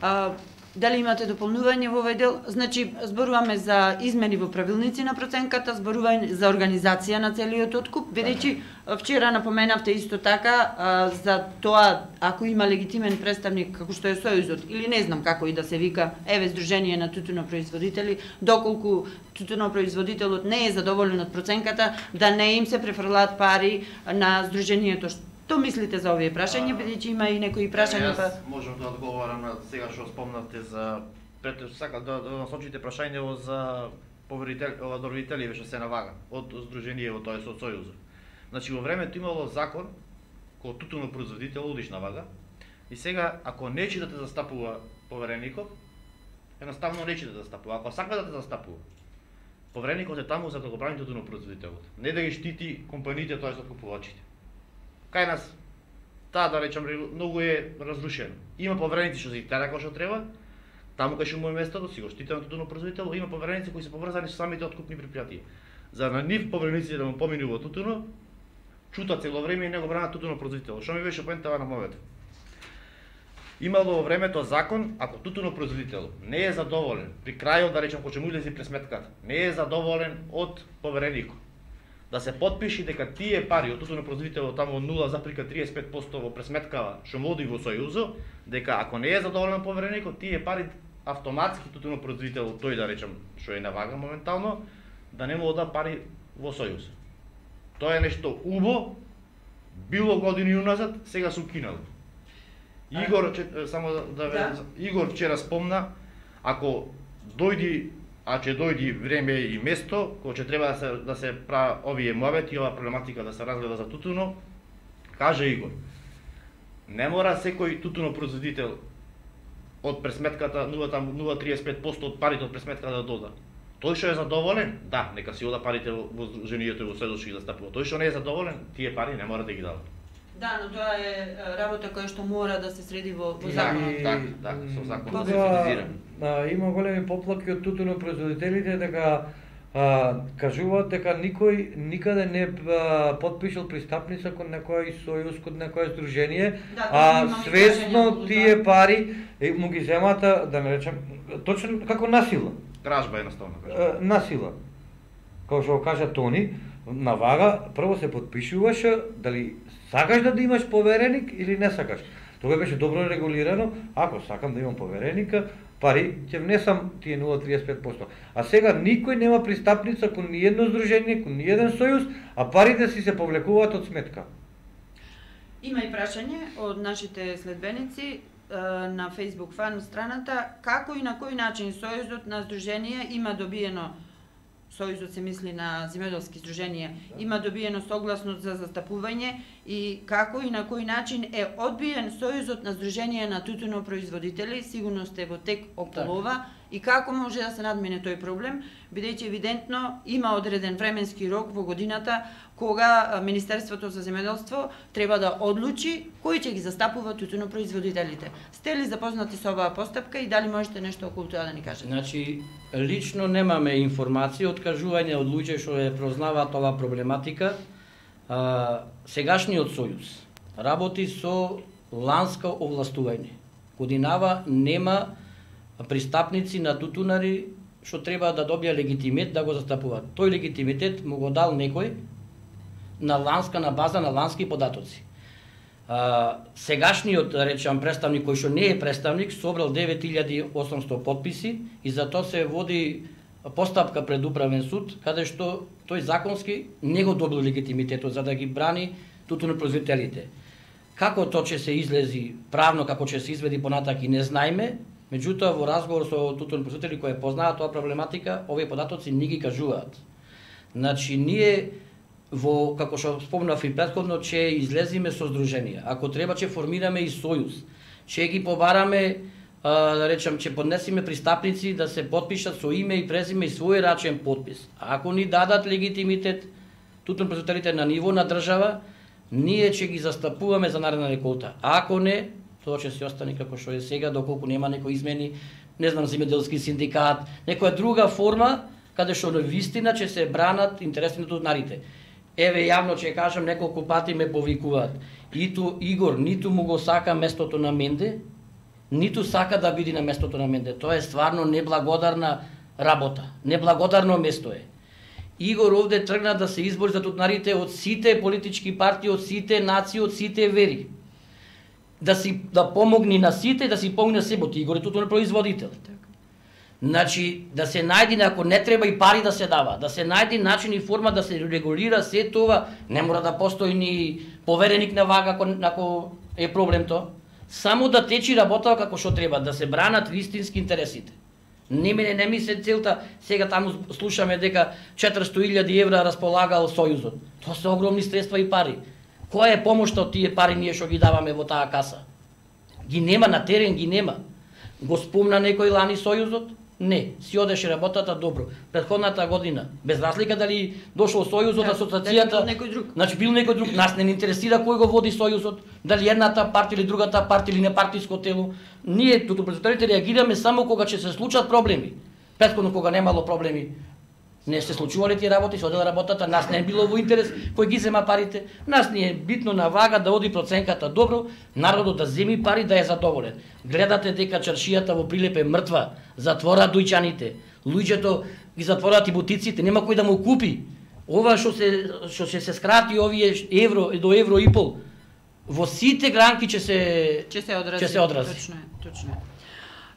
Speaker 2: А, дали имате дополнување во овој дел? Значи, зборуваме за измени во правилници на проценката, зборуваме за организација на целиот откуп, бидејќи вчера напоменавте исто така а, за тоа ако има легитимен представник како што е Сојузот или не знам како и да се вика, еве Сдружение на тутунопроизводители, доколку тутунопроизводителот не е задоволен од проценката, да не им се префрлаат пари на Сдруженијето. Што мислите за овие прашања, бидејќи има и некои прашања?
Speaker 5: Јас можам да одговорам на сега што спомнавте за прето сака да, да насочите прашањево за поверители, одобрители што се навага од Сдруженијево, тоа е со Сојузот. Значи во времето имало закон кој тутунопроизводител одиш навага и сега ако нечи да те застапува повереникот, едноставно нечи да те застапува. Ако сака да те застапува, повереникот е таму за да го брани тутунопроизводителот, не да ги штити компаниите, тоа е откупувачите. Кај нас, таа да речам, многу е разрушено. Има повереници што се тера како што треба, таму кај што му е местото, си го штите на тутунопроизводител, има повереници кои се поврзани со самите откупни предпријатија. За на нив поверениците да му поминува тутуно, чута цело време и не го бранат тутунопроизводител. Што ми беше поентава на мовето? Имало во времето закон, ако тутунопроизводител не е задоволен, при крајот да речем кога ќе му излезе пресметката, не е задоволен од повереникот, да се потпиши дека тие пари од тутунопроизводителот таму нула запирка триесет и пет одсто во пресметкава што му оди во Сојузот, дека ако не е задоволен повереникот, тие пари автоматски тутунопроизводителот тој да речем што е навага моментално, да не му ода пари во Сојуз. Тоа е нешто убо, било години уназад, сега се укинало. Игор, че, само да, да. Игор вчера спомна, ако дојди а ќе дојди време и место кога ќе треба да се да се прави овие муабети, ова проблематика да се разгледа за тутуно, каже Игор. Не мора секој тутунопроизводител од пресметката нула цела триесет и пет одсто од парите од пресметката да дода. Тој што е задоволен, да, нека си ода парите во Сдруженијето и во Сојузот да стапува. Тој што не е задоволен, тие пари не мора да ги дава.
Speaker 2: Да, но тоа е работа која што мора да се среди во, во законот.
Speaker 5: Да, да, да, со законот да се финизира.
Speaker 4: А, има големи поплаки од тутунопроизводителите дека а, кажуваат дека никој никаде не а, потпишал пристапница кон некој сојуз, кон некое здружение,
Speaker 2: да,
Speaker 4: а свесно тие пари е, му ги земат, да не речем, точно како насила.
Speaker 5: Кражба едноставно кажа.
Speaker 4: Насила. Како што кажа Тони, навага прво се потпишуваш дали сакаш да имаш повереник или не сакаш. Тоа беше добро регулирано, ако сакам да имам повереника, пари ќе внесам тие нула цела триесет и пет одсто. А сега никој нема пристапница кон ниедно здружение, кон ниеден сојуз, а парите си се повлекуваат од сметка.
Speaker 2: Има и прашање од нашите следбеници на Facebook фан страната, како и на кој начин Сојузот на здруженија има добиено Сојузот се мисли на земјоделски здруженија, има добиено согласност за застапување и како и на кој начин е одбиен Сојузот на здруженија на тутунопроизводители, сигурно сте во тек околу ова, и како може да се надмине тој проблем, бидејќи евидентно има одреден временски рок во годината кога Министерството за земјоделство треба да одлучи кој ќе ги застапува тутунопроизводителите. Сте ли запознати со оваа постапка и дали можете нешто околу тоа да ни кажете?
Speaker 3: Значи, лично немаме информација, откажување од луѓе што е прознаваат оваа проблематика. А, сегашниот сојуз работи со ланско овластување. Годинава нема пристапници на тутунари што треба да добија легитимет да го застапуваат. Тој легитимитет му го дал некој на ланска, на база на лански податоци. А, сегашниот, да речам, представник кој што не е представник собрал девет илјади и осумсто потписи и затоа се води постапка пред управен суд каде што тој законски не го добил легитимитетот за да ги брани тутунопроизводителите. Како тоа ќе се излези правно, како ќе се изведи понатак и не знаеме, меѓутоа во разговор со тутунопроизводители кои познаат тоа проблематика, овие податоци не ги кажуваат. Значи ние во, како што спомнав и претходно, ќе излезиме со здруженија. Ако треба ќе формираме и сојуз, ќе ги побараме, а, да речам, ќе поднесиме пристапници да се потпишат со име и презиме и свој рачен потпис. Ако ни дадат легитимитет тутунопроизводителите на ниво на држава, ние ќе ги застапуваме за наредна реколта. Ако не, тоа ќе се остане како што е сега, доколку нема некои измени, не знам, земјоделски синдикат, некоја друга форма каде што на вистина ќе се бранат интересите на тутунарите. Еве јавно ќе кажам, неколку пати ме повикуваат. Иту Игор ниту му го сака местото на Менде, ниту сака да биде на местото на Менде. Тоа е стварно неблагодарна работа. Неблагодарно место е. Игор овде тргна да се избори за тутунарите од сите политички партии, од сите нации, од сите вери. Да си да помогне на сите, да си помогне на себото. Игор е тутунопроизводител. Значи, да се најди, ако не треба и пари да се дава, да се најди начин и форма да се регулира се това, не мора да постои ни повереник на вага ако, ако е проблем тоа. Само да течи работа како што треба, да се бранат вистински интересите. Не мене не ми се целта, сега таму слушаме дека четиристо илјади евра располагал Сојузот. Тоа се огромни средства и пари. Која е помошта од тие пари ние што ги даваме во таа каса? Ги нема на терен, ги нема. Го спомна некој лани Сојузот? Не, си одеше работата добро. Претходната година, без разлика дали дошол Сојузот, да, асоциацијата,
Speaker 2: некој друг.
Speaker 3: Значи бил некој друг, нас не интересира кој го води Сојузот, дали едната партија или другата партија или непартиско тело. Ние тутунопроизводителите реагираме само кога ќе се случат проблеми. Претходно кога немало проблеми, не се случувале тие работи, се одела работата, нас не е било во интерес кој ги зема парите, нас не е битно на вага да оди проценката добро, народот да земи пари да е задоволен. Гледате дека чаршијата во Прилеп е мртва, затвора дујчаните, луѓето ги затворат и бутиците, нема кој да му купи. Ова што се што ќе се скрати овие евро до евро и пол, во сите гранки ќе се
Speaker 2: ќе се одрази.
Speaker 3: Ќе се одрази.
Speaker 2: Точно е, точно е.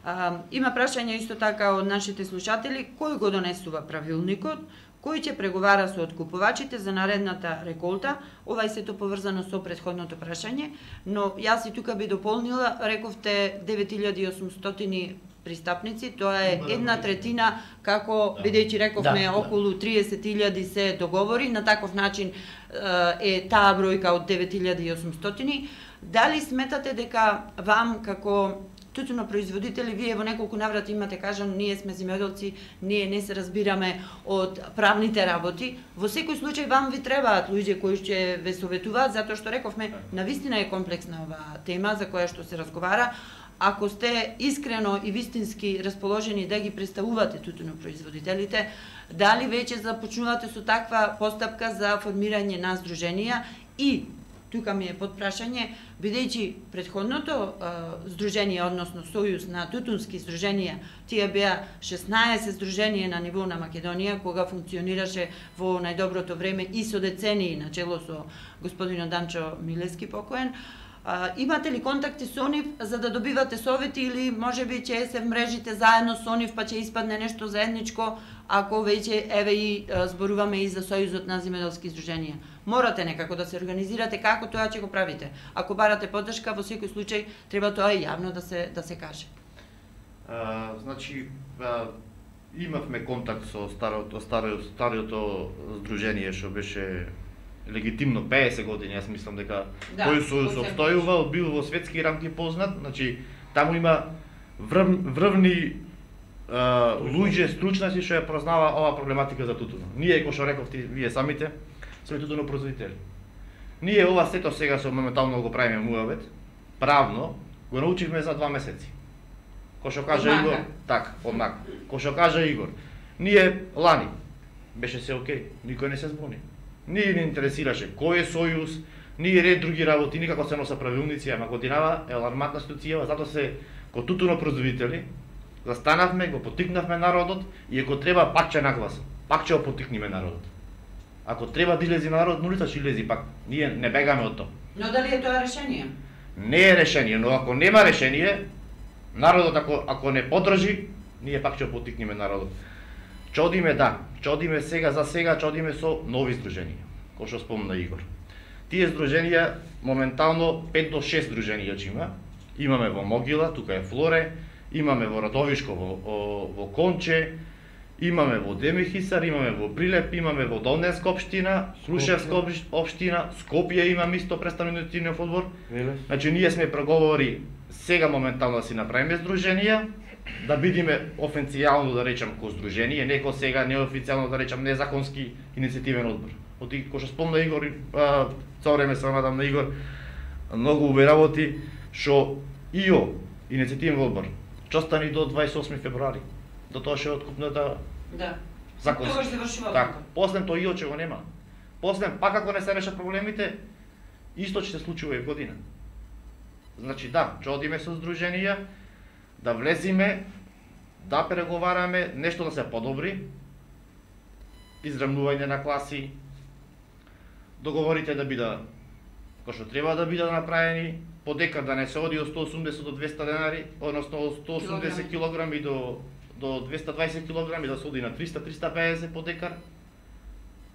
Speaker 2: А, има прашање исто така од нашите слушатели, кој го донесува правилникот, кој ќе преговара со откупувачите за наредната реколта. Ова е сето поврзано со претходното прашање, но јас и тука би дополнила, рековте девет илјади и осумстотини пристапници, тоа е една третина, како бидејќи рековме
Speaker 3: да,
Speaker 2: околу триесет илјади се договори, на таков начин е таа бројка од девет илјади и осумстотини. Дали сметате дека вам како тутунопроизводители, вие во неколку наврати имате кажано, ние сме земјоделци, ние не се разбираме од правните работи. Во секој случај вам ви требаат луѓе кои ќе ве советуваат, затоа што рековме, навистина е комплексна оваа тема за која што се разговара. Ако сте искрено и вистински расположени да ги представувате тутунопроизводителите, дали веќе започнувате со таква постапка за формирање на здруженија и тука ми е подпрашање, бидејќи претходното здружение, односно Сојуз на тутунски здруженија, тие беа шеснаесет здруженија на ниво на Македонија, кога функционираше во најдоброто време и со децении на чело со господинот Данчо Милевски покоен. А, имате ли контакти со нив за да добивате совети или можеби ќе се вмрежите заедно со нив па ќе испадне нешто заедничко, ако веќе еве и зборуваме и за Сојузот на земјоделски здруженија? Морате некако да се организирате, како тоа ќе го правите? Ако барате поддршка, во секој случај треба тоа и јавно да се да се каже.
Speaker 5: А, значи, а, Имавме контакт со старото старото старото здружение што беше легитимно пеесет години, јас мислам дека
Speaker 2: да,
Speaker 5: тој сојуз обстојувал, бил во светски рамки познат, значи таму има врв, врвни а, луѓе стручници што ја познава оваа проблематика за тутунот. Ние, кој што рековте вие самите, сме тутунопроизводители. Ние ова сето сега со моментално го правиме муавет, правно го научивме за два месеци. Кој што кажа Игор, так, однака. Кој што кажа Игор, ние лани беше се окей, никој не се збуни. Ние не интересираше кој е сојуз, ние ред други работи, никако се носа правилници, ама годинава е алармантна ситуација, затоа се ко тутунопроизводители застанавме, го потикнавме народот и ако треба пак ќе нагласам, пак ќе го потикниме народот. Ако треба да излези народ, нулица ќе излези пак. Ние не бегаме од тоа.
Speaker 2: Но дали е тоа решение?
Speaker 5: Не е решение, но ако нема решение, народот ако ако не подржи, ние пак ќе го потикниме народот. Ќе одиме да, ќе одиме сега за сега, ќе одиме со нови здруженија, кој што спомна Игор. Тие здруженија моментално пет до шест здруженија ќе има. Имаме во Могила, тука е Флоре, имаме во Радовишко, во, во Конче, имаме во Демихисар, имаме во Прилеп, имаме во Долненска општина, Крушевска општина, Скопје имаме исто представителниот одбор. Значи ние сме преговори сега моментално да си направиме здруженија, да бидиме официјално да речам ко здружение, не ко сега неофицијално да речам незаконски иницијативен одбор. Оти кој што спомна Игор, цело време се надам на Игор, многу убави работи што ИО иницијативен одбор ќе остане до дваесет и осми февруари. До тоа што е откупната
Speaker 2: да.
Speaker 5: законски.
Speaker 2: Тоа ќе завршува.
Speaker 5: Так, после тоа ИО ќе го нема. После пак ако не се решат проблемите, исто ќе се случи оваа година. Значи да, ќе одиме со здруженија, да влезиме, да преговараме, нешто да се подобри, израмнување на класи, договорите да бидат кој што треба да бидат направени, по декар да не се оди од сто осумдесет до двеста денари, односно од сто осумдесет килограми до до двеста дваесет килограми, да се оди на триста до триста и педесет по декар.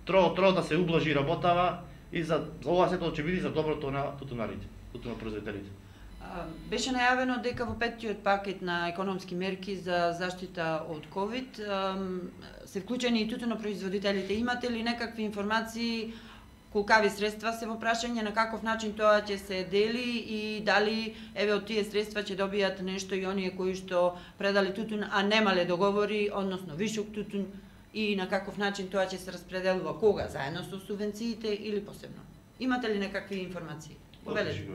Speaker 5: Тро тро да се ублажи работава и за ова сето ќе биде за доброто на тутунарите, тутунопроизводителите.
Speaker 2: Беше најавено дека во петтиот пакет на економски мерки за заштита од ковид се вклучени и тутунопроизводителите. Имате ли некакви информации колкави средства се во прашање, на каков начин тоа ќе се дели и дали еве од тие средства ќе добијат нешто и оние кои што предали тутун, а немале договори, односно вишок тутун, и на каков начин тоа ќе се распределува, кога, заедно со субвенциите или посебно? Имате ли некакви информации? Обележи.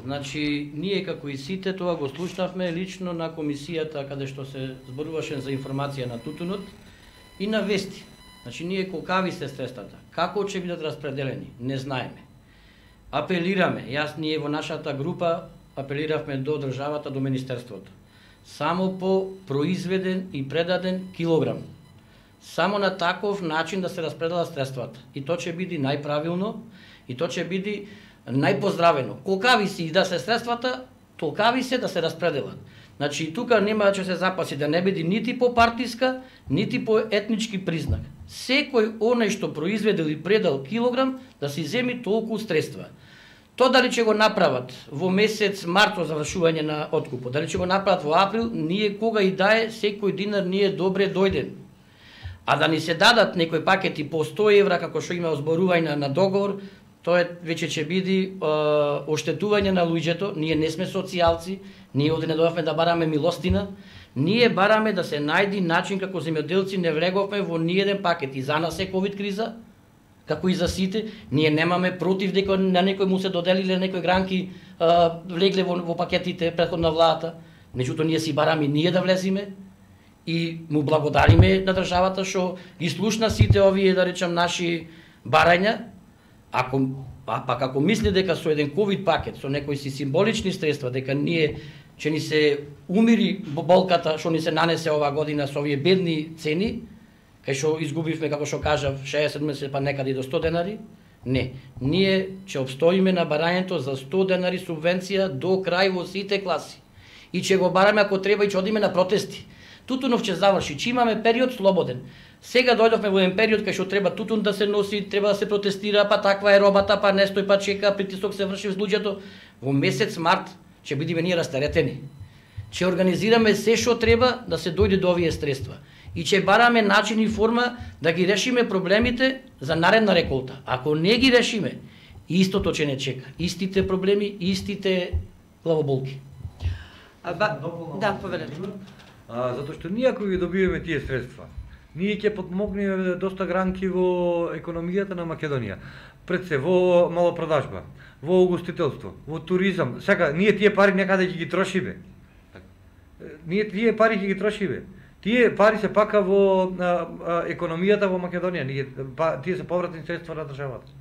Speaker 3: Значи, ние како и сите тоа го слушнавме лично на комисијата каде што се зборуваше за информација на тутунот и на вести. Значи, ние колкави се средствата, како ќе бидат распределени, не знаеме. Апелираме, јас ние во нашата група апелиравме до државата, до Министерството. Само по произведен и предаден килограм. Само на таков начин да се распределат средствата. И тоа ќе биде најправилно, и тоа ќе биде најпоздравено. Колкави си и да се средствата, толкави се да се распределат. Значи, тука нема да се запаси да не биде нити по партиска, нити по етнички признак. Секој оној што произведел и предал килограм, да си земи толку средства. Тоа дали ќе го направат во месец март во завршување на откупот, дали ќе го направат во април, ние кога и да е, секој динар ние добре дојден. А да ни се дадат некои пакети по сто евра, како што има озборување на договор, тоа веќе ќе биде е, оштетување на луѓето. Ние не сме социјалци, ние овде не дојавме да бараме милостина, ние бараме да се најди начин како земјоделци, не влеговме во ниеден пакет. И за нас е ковид криза, како и за сите. Ние немаме против дека на некој му се доделиле некои гранки, е, влегле во, во пакетите претходна владата. Меѓутоа ние си бараме ние да влезиме и му благодариме на државата што ги слушна сите овие, да речам, наши барања. Ако, а пак ако мисли дека со еден ковид пакет, со некои си символични средства, дека ние ќе ни се умири болката што ни се нанесе оваа година со овие бедни цени, кај што изгубивме, како што кажав, шеесет седумдесет па некаде и до сто денари, не. Ние ќе обстоиме на барањето за сто денари субвенција до крај во сите класи. И ќе го бараме ако треба и ќе одиме на протести. Тутунов ќе заврши, ќе имаме период слободен. Сега дојдовме во еден период кај што треба тутун да се носи, треба да се протестира, па таква е робата, па не стои, па чека, притисок се врши во луѓето. Во месец март ќе бидеме ние растаретени. Ќе организираме се што треба да се дојде до овие средства. и ќе бараме начин и форма да ги решиме проблемите за наредна реколта. Ако не ги решиме, истото ќе не чека. Истите проблеми, истите главоболки.
Speaker 2: А, ба... Да, повелете.
Speaker 4: А, затоа што ние ако ги добиваме тие средства, ние ќе подмогнеме доста гранки во економијата на Македонија. Пред се во малопродажба, во угостителство, во туризам. Сака, ние тие пари некаде ќе ги трошиме. Ние тие пари ќе ги трошиме. Тие пари се пака во а, а, економијата во Македонија. Ние, па, тие се повратни средства на државата.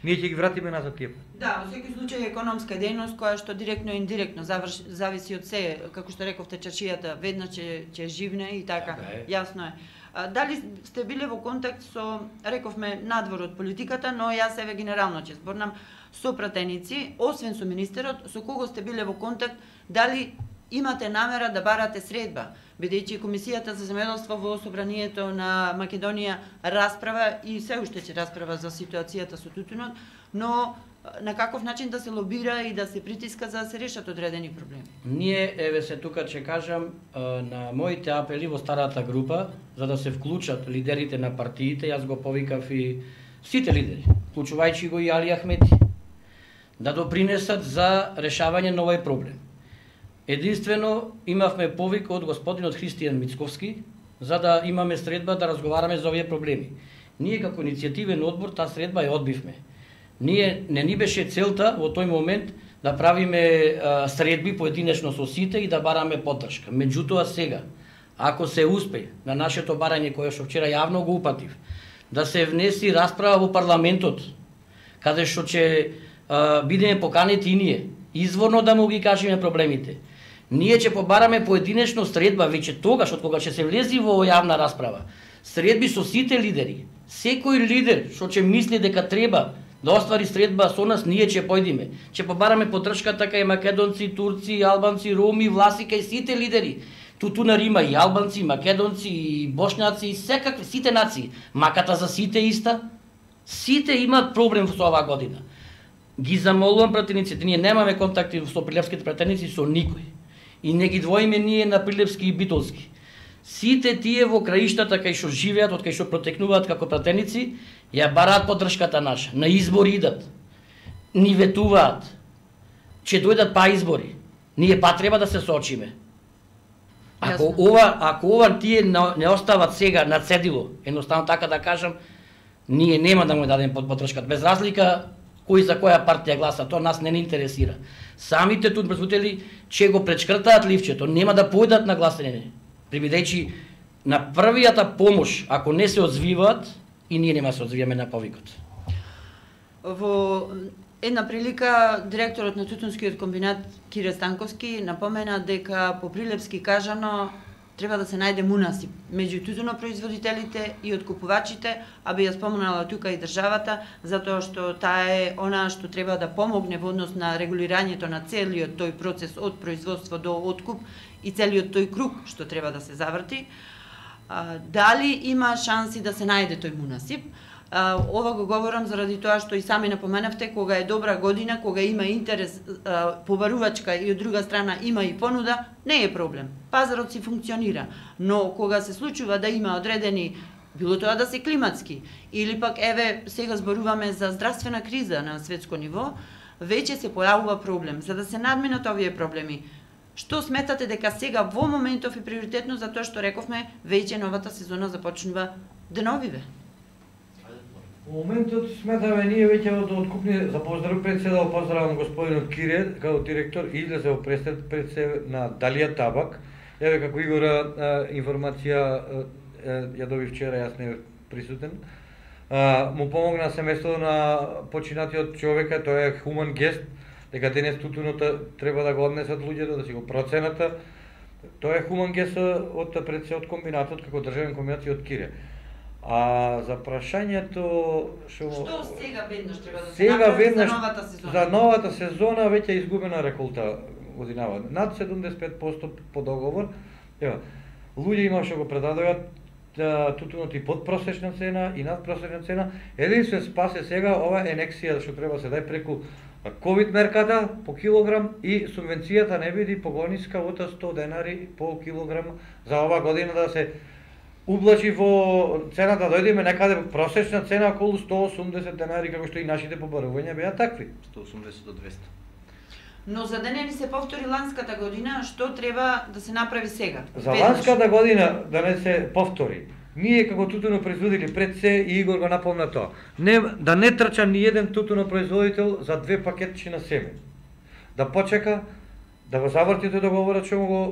Speaker 4: Ние ќе ги вратиме назад тие.
Speaker 2: Да, во секој случај економска дејност која што директно и индиректно заврш, зависи од се, како што рековте, чаршијата веднаш ќе ќе живне и така. Јасно е. А, дали сте биле во контакт со, рековме, надвор од политиката, но јас еве генерално ќе зборнам, со пратеници, освен со министерот, со кого сте биле во контакт, дали имате намера да барате средба, бидејќи Комисијата за земјоделство во Собранието на Македонија расправа и се уште ќе расправа за ситуацијата со тутунот, но на каков начин да се лобира и да се притиска за да се решат одредени проблеми? Ние,
Speaker 3: еве се тука ќе кажам, на моите апели во старата група, за да се вклучат лидерите на партиите, јас го повикав и сите лидери, вклучувајќи го и Али Ахмети, да допринесат за решавање на овој проблем. Единствено имавме повик од господинот Христијан Мицковски за да имаме средба да разговараме за овие проблеми. Ние како иницијативен одбор таа средба ја одбивме. Ние не ни беше целта во тој момент да правиме а, средби поединечно со сите и да бараме поддршка. Меѓутоа сега, ако се успе на нашето барање кое што вчера јавно го упатив, да се внеси расправа во парламентот, каде што ќе а, бидеме поканети и ние, изворно да му ги кажеме проблемите, ние ќе побараме поединечно средба веќе тогаш од кога ќе се влези во јавна расправа. Средби со сите лидери. Секој лидер што ќе мисли дека треба да оствари средба со нас, ние ќе појдиме. Ќе побараме поддршка така и македонци, турци, албанци, роми, власика и сите лидери. Тутунар има и албанци, и македонци, и бошњаци, и секакви, сите нации. Маката за сите иста. Сите имаат проблем со оваа година. Ги замолувам пратениците, ние немаме контакти со прилепските пратеници со никој. И не ги двоиме ние на Прилепски и Битолски. Сите тие во краиштата кај што живеат, од кај што протекнуваат како пратеници, ја бараат поддршката наша. На избори идат. Ни ветуваат. Ќе дојдат па избори. Ние па треба да се соочиме. Ако ова, ако ова тие не остават сега на цедило, едноставно така да кажам, ние нема да му дадем поддршката. Без разлика кој за која партија гласа, тоа нас не ни интересира. Самите тут производители ќе го пречкртаат ливчето, нема да појдат на гласање. Прибидејќи на првијата помош, ако не се одзвиваат, и ние нема се одзвиваме на повикот.
Speaker 2: Во една прилика, директорот на Тутунскиот комбинат Кире Станковски напомена дека по прилепски кажано треба да се најде мунасип меѓу тутунопроизводителите и откупувачите, а би ја спомнала тука и државата, затоа што таа е она што треба да помогне во однос на регулирањето на целиот тој процес од производство до откуп и целиот тој круг што треба да се заврти. А, дали има шанси да се најде тој мунасип? А, ова го говорам заради тоа што и сами напоменавте, кога е добра година, кога има интерес а, побарувачка и од друга страна има и понуда, не е проблем. Пазарот си функционира, но кога се случува да има одредени, било тоа да се климатски, или пак еве сега зборуваме за здравствена криза на светско ниво, веќе се појавува проблем. За да се надминат овие проблеми, што сметате дека сега во моментов е приоритетно, затоа што рековме веќе новата сезона започнува деновиве?
Speaker 4: Во моментот сметаме ние веќе од откупни за поздрав председател, поздравам господинот Кире како директор, излезе во пресед пред се на Далија Табак. Еве како Игора информација ја доби вчера, јас не присутен. А, му помогна семејството на починатиот човека, тоа е хуман гест, дека денес тутунот треба да го однесат луѓето, да си го процената. Тоа е хуман гест од пред се од комбинатот како државен комбинат и од Кире. А за прашањето
Speaker 2: што Што сега веднаш треба да се
Speaker 4: сега
Speaker 2: направи
Speaker 4: веднаш,
Speaker 2: за новата сезона?
Speaker 4: За новата сезона веќе е изгубена реколта годинава. Над седумдесет и пет проценти по договор. Ева, луѓе има што го предадојат тутунот и под просечна цена и над просечна цена. Единствен спас е сега ова енексија што треба се дај преку ковид мерката по килограм и субвенцијата не биде поголниска од сто денари по килограм за ова година да се ублажи во цената, дојдеме некаде просечна цена околу сто осумдесет денари, како што и нашите побарувања беа такви.
Speaker 5: сто осумдесет до двесте.
Speaker 2: Но за да не ни се повтори ланската година, што треба да се направи сега?
Speaker 4: За ланската година да не се повтори. Ние како тутунопроизводители пред се и Игор го напомна тоа. Не да не трча ни еден тутунопроизводител за две пакетчи на семе. Да почека да го заврти тој договорот што му го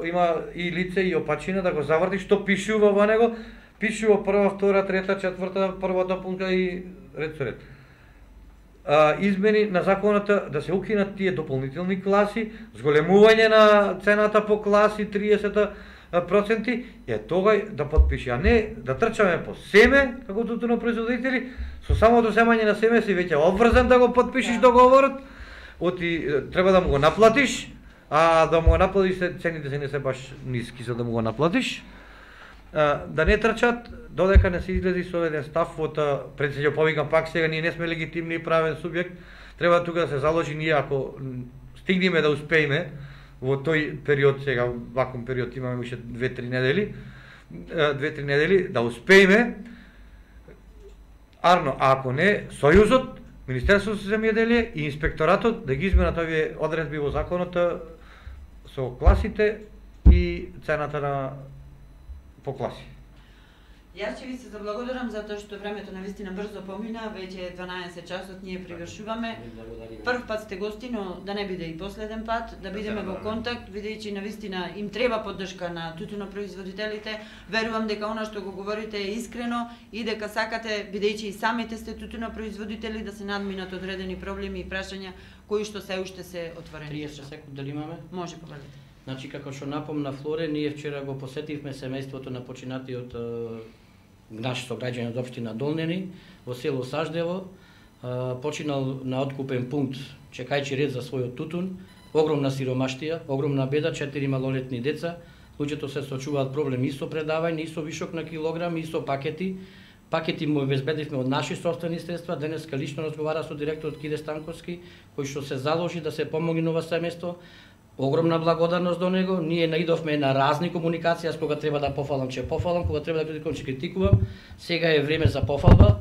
Speaker 4: има и лице и опачина, да го заврти што пишува во него, пишува прва, втора, трета, четврта, прва дополнка и ред со ред. А, измени на законата да се укинат тие дополнителни класи, зголемување на цената по класи триесет проценти, е тогај да подпише, а не да трчаме по семе, како тутунопроизводители, со самото земање на семе си веќе обврзан да го подпишеш договорот, оти треба да му го наплатиш, а да му го наплатиш цените се не се баш ниски за да му го наплатиш. А, да не трчат додека не се излези со еден став од председател, повикам пак сега ние не сме легитимни и правен субјект, треба тука да се заложи ние ако стигнеме да успееме во тој период, сега ваком период имаме уште две-три недели, две-три недели да успееме. Арно, а ако не, Сојузот, Министерството за земјоделие и инспекторатот да ги изменат овие одредби во законот со класите и цената на по класи.
Speaker 2: Јас ќе ви се заблагодарам затоа што времето навистина брзо помина, веќе е дванаесет часот, ние привршуваме. Прв пат сте гости, но да не биде и последен пат, да бидеме во контакт, бидејќи навистина им треба поддршка на тутунопроизводителите. Верувам дека она што го говорите е искрено и дека сакате, бидејќи и самите сте тутунопроизводители, да се надминат одредени проблеми и прашања кои што се уште се отворени.
Speaker 3: триесет секунд дали имаме?
Speaker 2: Може, повелете.
Speaker 3: Значи, како што напомна Флоре, ние вчера го посетивме семејството на починатиот наш сограѓање од општина Долнени во село Саждево, починал на откупен пункт, чекајќи ред за својот тутун, огромна сиромаштија, огромна беда, четири малолетни деца, луѓето се соочуваат проблеми и со предавање, и со вишок на килограми, и со пакети. Пакети му обезбедивме од наши собствени средства, денеска лично разговара со директорот Киде Станковски, кој што се заложи да се помогне на ова семејство. Огромна благодарност до него. Ние наидовме на разни комуникации, кога треба да пофалам, че пофалам, кога треба да критикувам, че критикувам. Сега е време за пофалба.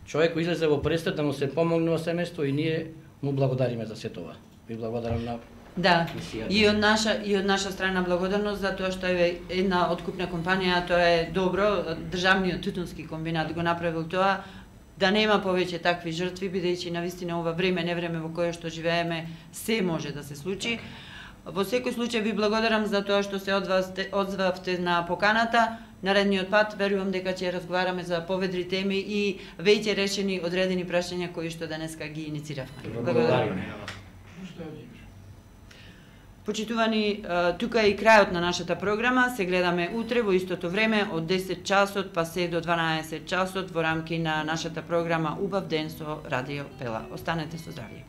Speaker 3: Човек излезе во престап да му се помогне во семејство и ние му благодариме за се това. Ви благодарам на
Speaker 2: Да, и од наша и од наша страна благодарност за тоа што е една откупна компанија, тоа е добро, државниот тутунски комбинат го направил тоа, да нема повеќе такви жртви, бидејќи навистина ова време, не време во кое што живееме, се може да се случи. Во секој случај ви благодарам за тоа што се одзвавте на поканата. Наредниот пат верувам дека ќе разговараме за поведри теми и веќе решени одредени прашања кои што денеска ги инициравме. Благодарам. Почитувани, тука е и крајот на нашата програма. Се гледаме утре во истото време од десет часот па се до дванаесет часот во рамки на нашата програма Убав ден со Радио Пела. Останете со здравје.